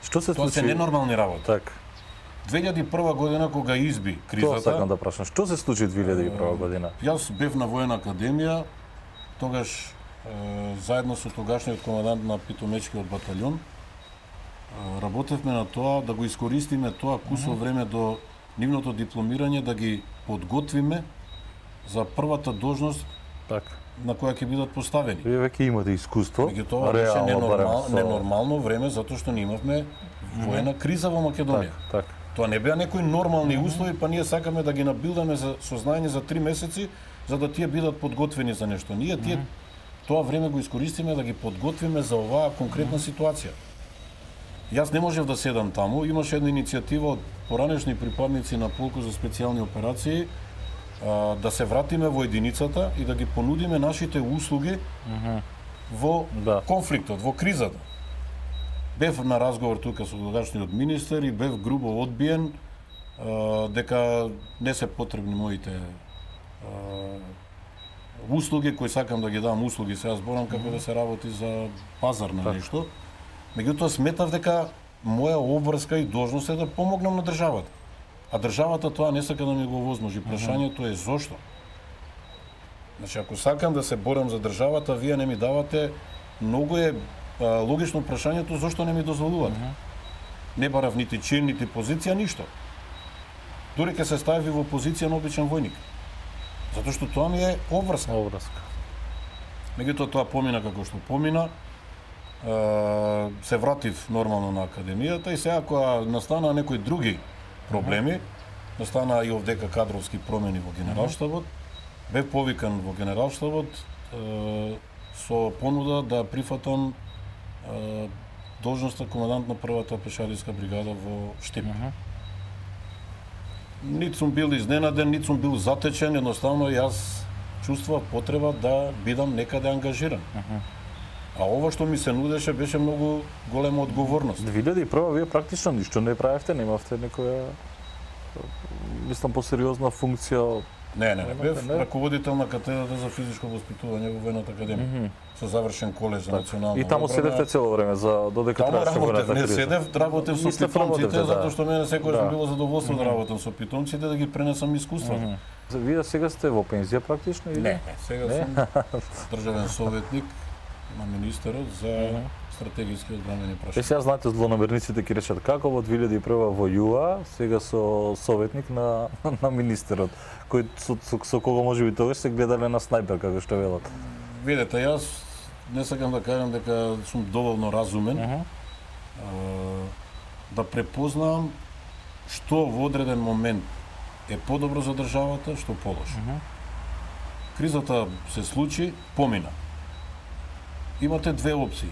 Speaker 4: Што се
Speaker 2: тоа
Speaker 4: случи?
Speaker 2: се ненормални работи.
Speaker 4: Так.
Speaker 2: две илјади и прва година кога изби кризата.
Speaker 4: Тоа сакам да прашам. Што се случи две илјади и прва година?
Speaker 2: Јас бев на воена академија, тогаш е, заедно со тогашниот командант на питомечкиот баталјон е, работевме на тоа да го искористиме тоа кусо mm -hmm. време до нивното дипломирање да ги подготвиме за првата должност
Speaker 4: так
Speaker 2: на која ќе бидат поставени.
Speaker 4: Вие веќе имате искуство.
Speaker 2: Меѓутоа беше ненормал, со... ненормално време затоа што ние имавме воена криза во Македонија.
Speaker 4: Так, так.
Speaker 2: Тоа не беа некои нормални услови, па ние сакаме да ги набилдаме за сознање за три месеци, за да тие бидат подготвени за нешто. Ние тие тоа време го искористиме да ги подготвиме за оваа конкретна ситуација. Јас не можев да седам таму, имаше една иницијатива од поранешни припадници на полку за специјални операции а, да се вратиме во единицата и да ги понудиме нашите услуги uh -huh. во да. конфликтот, во кризата. Бев на разговор тука со тогашниот министер и бев грубо одбиен а, дека не се потребни моите а, услуги кои сакам да ги дам услуги, сега зборам како да се работи за пазар на так. нешто. Меѓутоа сметав дека моја обврска и должност е да помогнам на државата. А државата тоа не сака да ми го возможи. Прашањето е зошто? Значи, ако сакам да се борам за државата, вие не ми давате, многу е а, логично прашањето зошто не ми дозволувате. Не барав нити чин, нити позиција, ништо. Дури ке се стави во позиција на обичен војник. Затоа што тоа ми е обврска.
Speaker 4: Обврска.
Speaker 2: Меѓутоа тоа помина како што помина. Се вратив нормално на академијата и сега кога настана некои други проблеми, настана и овдека кадровски промени во генералштабот, бев повикан во генералштабот со понуда да прифатам должноста командант на првата пешадиска бригада во Штип. Нит сум бил изненаден, нит сум бил затечен, едноставно јас чувствував потреба да бидам некаде ангажиран. А ова што ми се нудеше беше многу голема одговорност.
Speaker 4: две илјади и прва вие практично ништо не правевте, немавте некоја мислам посериозна функција.
Speaker 2: Не, не, не, бев не? раководител на катедрата за физичко воспитување во Воената академија. Mm -hmm. Со завршен колеж за национална
Speaker 4: и таму седевте цело време за додека траеше воената криза.
Speaker 2: Не седев, работев со питомците, да. затоа што мене секогаш да. било задоволство mm -hmm. да работам со питомците, да ги пренесам искуството. Mm
Speaker 4: -hmm. Вие сега сте во пензија практично или?
Speaker 2: Не, сега не? сум државен советник на министерот за uh -huh. стратегиски одбранени прашања.
Speaker 4: Е, сега знаете, злонамерниците ќе речат како во две илјади и прва војува, сега со советник на на министерот, кој со, со, со кого можеби тогаш се гледале на снајпер како што велат.
Speaker 2: Видете, јас не сакам да кажам дека сум доволно разумен uh -huh. а, да препознавам што во одреден момент е подобро за државата, што полошо. Uh -huh. Кризата се случи, помина. Имате две опции.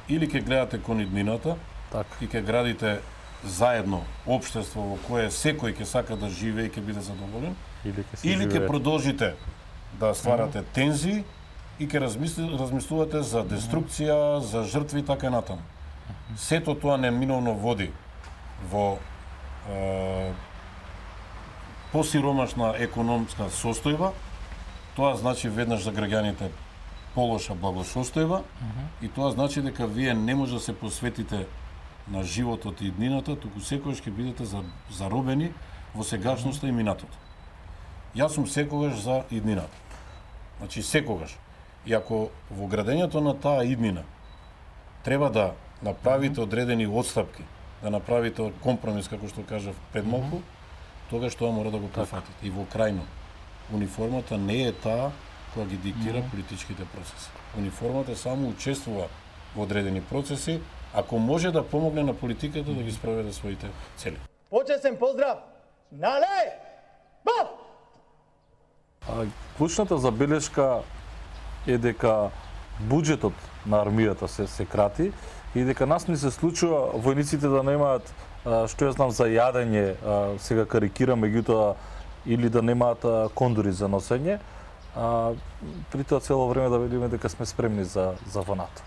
Speaker 2: Или ќе гледате кон иднината
Speaker 4: так.
Speaker 2: и ќе градите заедно општество во кое секој ќе сака да живее и ќе биде задоволен,
Speaker 4: или ќе
Speaker 2: или ќе продолжите да стварате mm -hmm. тензии и ќе размислувате за деструкција, за жртви и така натаму. Сето тоа неминовно води во е, посиромашна економска состојба. Тоа значи веднаш за граѓаните полоша благосостојба и тоа значи дека вие не може да се посветите на животот и иднината, туку секогаш ќе бидете заробени во сегашноста и минатото. Јас сум секогаш за иднината. Значи секогаш. И ако во градењето на таа иднина треба да направите одредени отстапки, да направите компромис, како што кажав пред малку, тогаш тоа мора да го прифатите. И во крајно, униформата не е таа која ги диктира политичките процеси. Униформата само учествува во одредени процеси, ако може да помогне на политиката да ги спроведе своите цели.
Speaker 5: Почесен поздрав! Нале! Бап!
Speaker 4: А, клучната забелешка е дека буџетот на армијата се се крати и дека нас ни се случува војниците да немаат, што ја знам, за јадење, сега карикирам, меѓутоа, или да немаат кондори за носење, а, при тоа цело време да видиме дека сме спремни за, за ваната.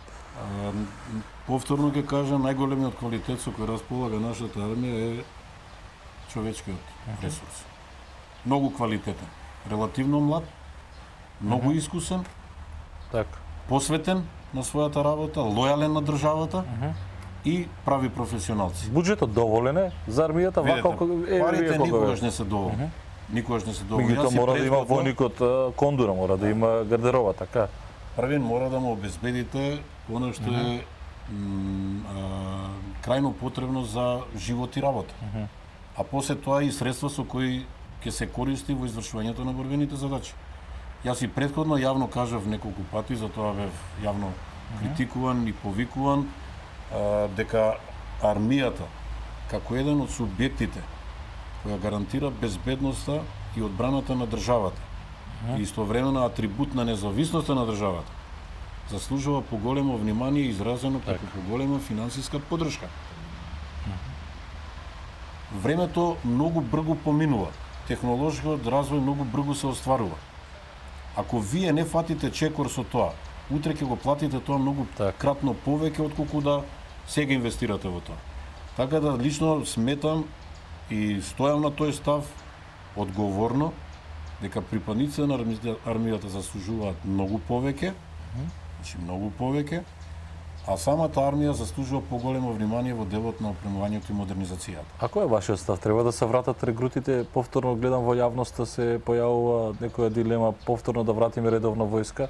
Speaker 2: Повторно ќе кажам, најголемиот квалитет со кој располага нашата армија е човечкиот ресурс. Многу квалитетен, релативно млад, многу искусен,
Speaker 4: така,
Speaker 2: посветен на својата работа, лојален на државата и прави професионалци.
Speaker 4: Буџетот доволен е за армијата, вака
Speaker 2: е парите никогаш не се доволни. Никогаш не се доволни.
Speaker 4: Меѓутоа мора да има војникот кондура, мора да има гардероба, така.
Speaker 2: Првен мора да му обезбедите она што е крајно потребно за живот и работа. А после тоа и средства со кои ќе се користи во извршувањето на борбените задачи. Јас и претходно јавно кажав неколку пати, за тоа бев јавно критикуван и повикуван, а, дека армијата, како еден од субјектите која гарантира безбедноста и одбраната на државата, и истовремено атрибут на независноста на државата, заслужува поголемо внимание изразено преку поголема финансиска поддршка. Времето многу брзо поминува, технолошкиот развој многу брзо се остварува. Ако вие не фатите чекор со тоа, утре ќе го платите тоа многу
Speaker 4: так.
Speaker 2: кратно повеќе отколку да сега инвестирате во тоа. Така да лично сметам и стојам на тој став одговорно дека припадниците на армијата заслужуваат многу повеќе, значи многу повеќе, а самата армија заслужува поголемо внимание во делот на опремувањето и модернизацијата.
Speaker 4: А кој е вашиот став? Треба да се вратат регрутите? Повторно гледам во јавноста се појавува некоја дилема повторно да вратиме редовна војска?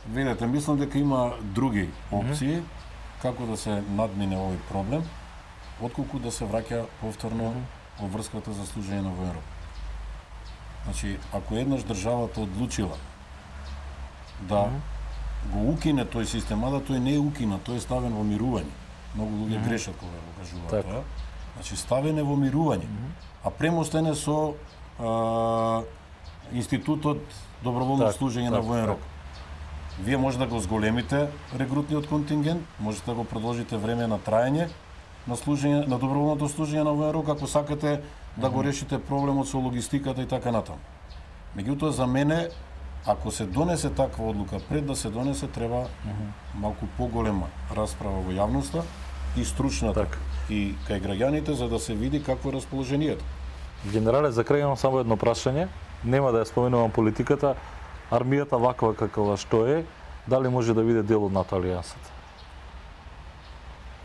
Speaker 2: Видете, мислам дека има други опции mm -hmm. како да се надмине овој проблем, отколку да се враќа повторно mm -hmm. во врската за служење на воен род. Значи, ако еднаш државата одлучила да mm -hmm. го укине тој систем, а да тој не е укина, тој е ставен во мирување. Многу луѓе mm -hmm. грешат кога го кажуваат
Speaker 4: так.
Speaker 2: тоа. Значи, ставен е во мирување, mm -hmm. а премостен е со а, институтот доброволно
Speaker 4: так,
Speaker 2: служење
Speaker 4: так,
Speaker 2: на воен
Speaker 4: так.
Speaker 2: род. Вие може да го зголемите регрутниот контингент, можете да го продолжите време на траење на служење на доброволното служење на воен род, ако сакате да го решите проблемот со логистиката и така натаму. Меѓутоа за мене, ако се донесе таква одлука, пред да се донесе треба mm -hmm. малку поголема расправа во јавноста и стручната
Speaker 4: так.
Speaker 2: и кај граѓаните за да се види какво е расположението.
Speaker 4: Генерале, за крај имам само едно прашање, нема да ја споменувам политиката. Армијата ваква каква што е, дали може да биде дел од НАТО алијансата?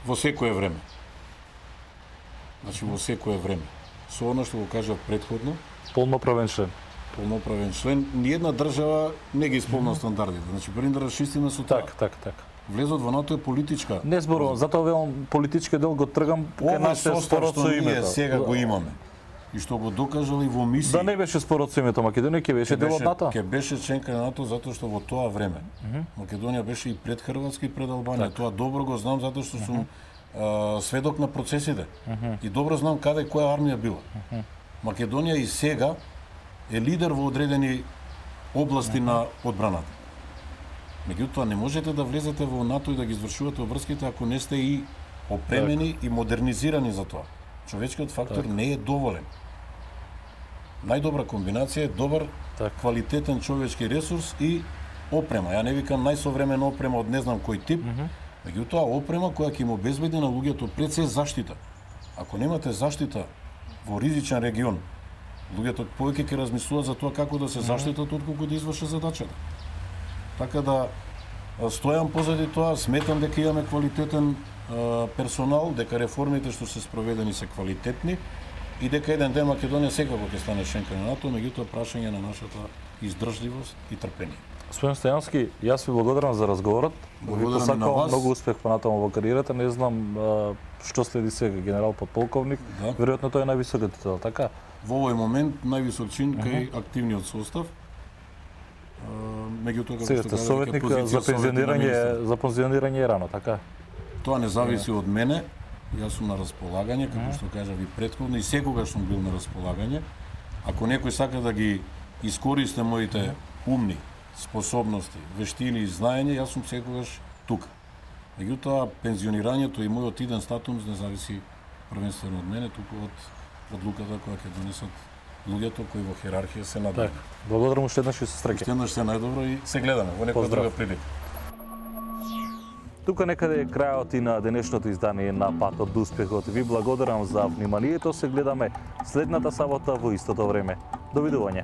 Speaker 2: Во секое време. Значи во секое време. Со оно што го кажав претходно,
Speaker 4: Полноправен член.
Speaker 2: полноправен член, ниедна држава не ги исполнува стандардите. Значи први да расчистиме со тоа.
Speaker 4: Так, так, так.
Speaker 2: Влезот во НАТО е политичка.
Speaker 4: Не зборувам, затоа велам политичкиот дел го тргам кај
Speaker 2: Овој
Speaker 4: нашите
Speaker 2: состав
Speaker 4: спорот
Speaker 2: што
Speaker 4: со
Speaker 2: ние
Speaker 4: името.
Speaker 2: сега го имаме и што го докажал и во мисии.
Speaker 4: Да не беше спорот со името Македонија, ќе беше дел од НАТО.
Speaker 2: Ќе беше членка на НАТО затоа што во тоа време mm -hmm. Македонија беше и пред Хрватска и пред Албанија. Так. Тоа добро го знам затоа што сум mm -hmm. а, сведок на процесите. Mm -hmm. И добро знам каде која армија била. Mm -hmm. Македонија и сега е лидер во одредени области mm -hmm. на одбраната. Меѓутоа не можете да влезете во НАТО и да ги извршувате обврските ако не сте и опремени так. и модернизирани за тоа. Човечкиот фактор так. не е доволен. Најдобра комбинација е добар, так. квалитетен човечки ресурс и опрема. Ја не викам најсовремена опрема од не знам кој тип,
Speaker 4: Мгм.
Speaker 2: меѓутоа опрема која ќе им обезбеди на луѓето пред се заштита. Ако немате заштита во ризичен регион, луѓето повеќе ќе размислуваат за тоа како да се заштитат отколку да извршат задачата. Така да а, стојам позади тоа, сметам дека имаме квалитетен а, персонал, дека реформите што се спроведени се квалитетни и дека еден ден Македонија секако ќе стане членка на НАТО, меѓутоа прашање на нашата издржливост и трпение.
Speaker 4: Господин Стојановски, јас ви благодарам за разговорот.
Speaker 2: Благодарам
Speaker 4: ви
Speaker 2: и на
Speaker 4: посакувам
Speaker 2: вас.
Speaker 4: многу успех понатаму во кариерата. Не знам а, што следи сега генерал подполковник.
Speaker 2: Да.
Speaker 4: Веројатно тој е највисокиот титул, така?
Speaker 2: Во овој момент највисок чин кај активниот состав. А, Меѓутоа како
Speaker 4: Сега
Speaker 2: што
Speaker 4: сте
Speaker 2: кажа,
Speaker 4: советник
Speaker 2: дека позиција
Speaker 4: за
Speaker 2: советник на
Speaker 4: пензионирање,
Speaker 2: министар.
Speaker 4: за пензионирање е рано, така?
Speaker 2: Тоа не зависи од мене. Јас сум на располагање, како што кажа ви претходно, и секогаш сум бил на располагање. Ако некој сака да ги искористи моите умни способности, вештини и знаење, јас сум секогаш тука. Меѓутоа, пензионирањето и мојот иден статус не зависи првенствено од мене, туку од одлуката која ќе донесат луѓето кои во хиерархија се надвајат.
Speaker 4: Така. Благодарам уште еднаш и се среќа.
Speaker 2: Уште еднаш се најдобро и се гледаме во некоја
Speaker 4: Поздрав.
Speaker 2: друга прилика.
Speaker 4: Тука некаде е крајот и на денешното издание на Патот до успехот. Ви благодарам за вниманието. Се гледаме следната сабота во истото време. Довидување.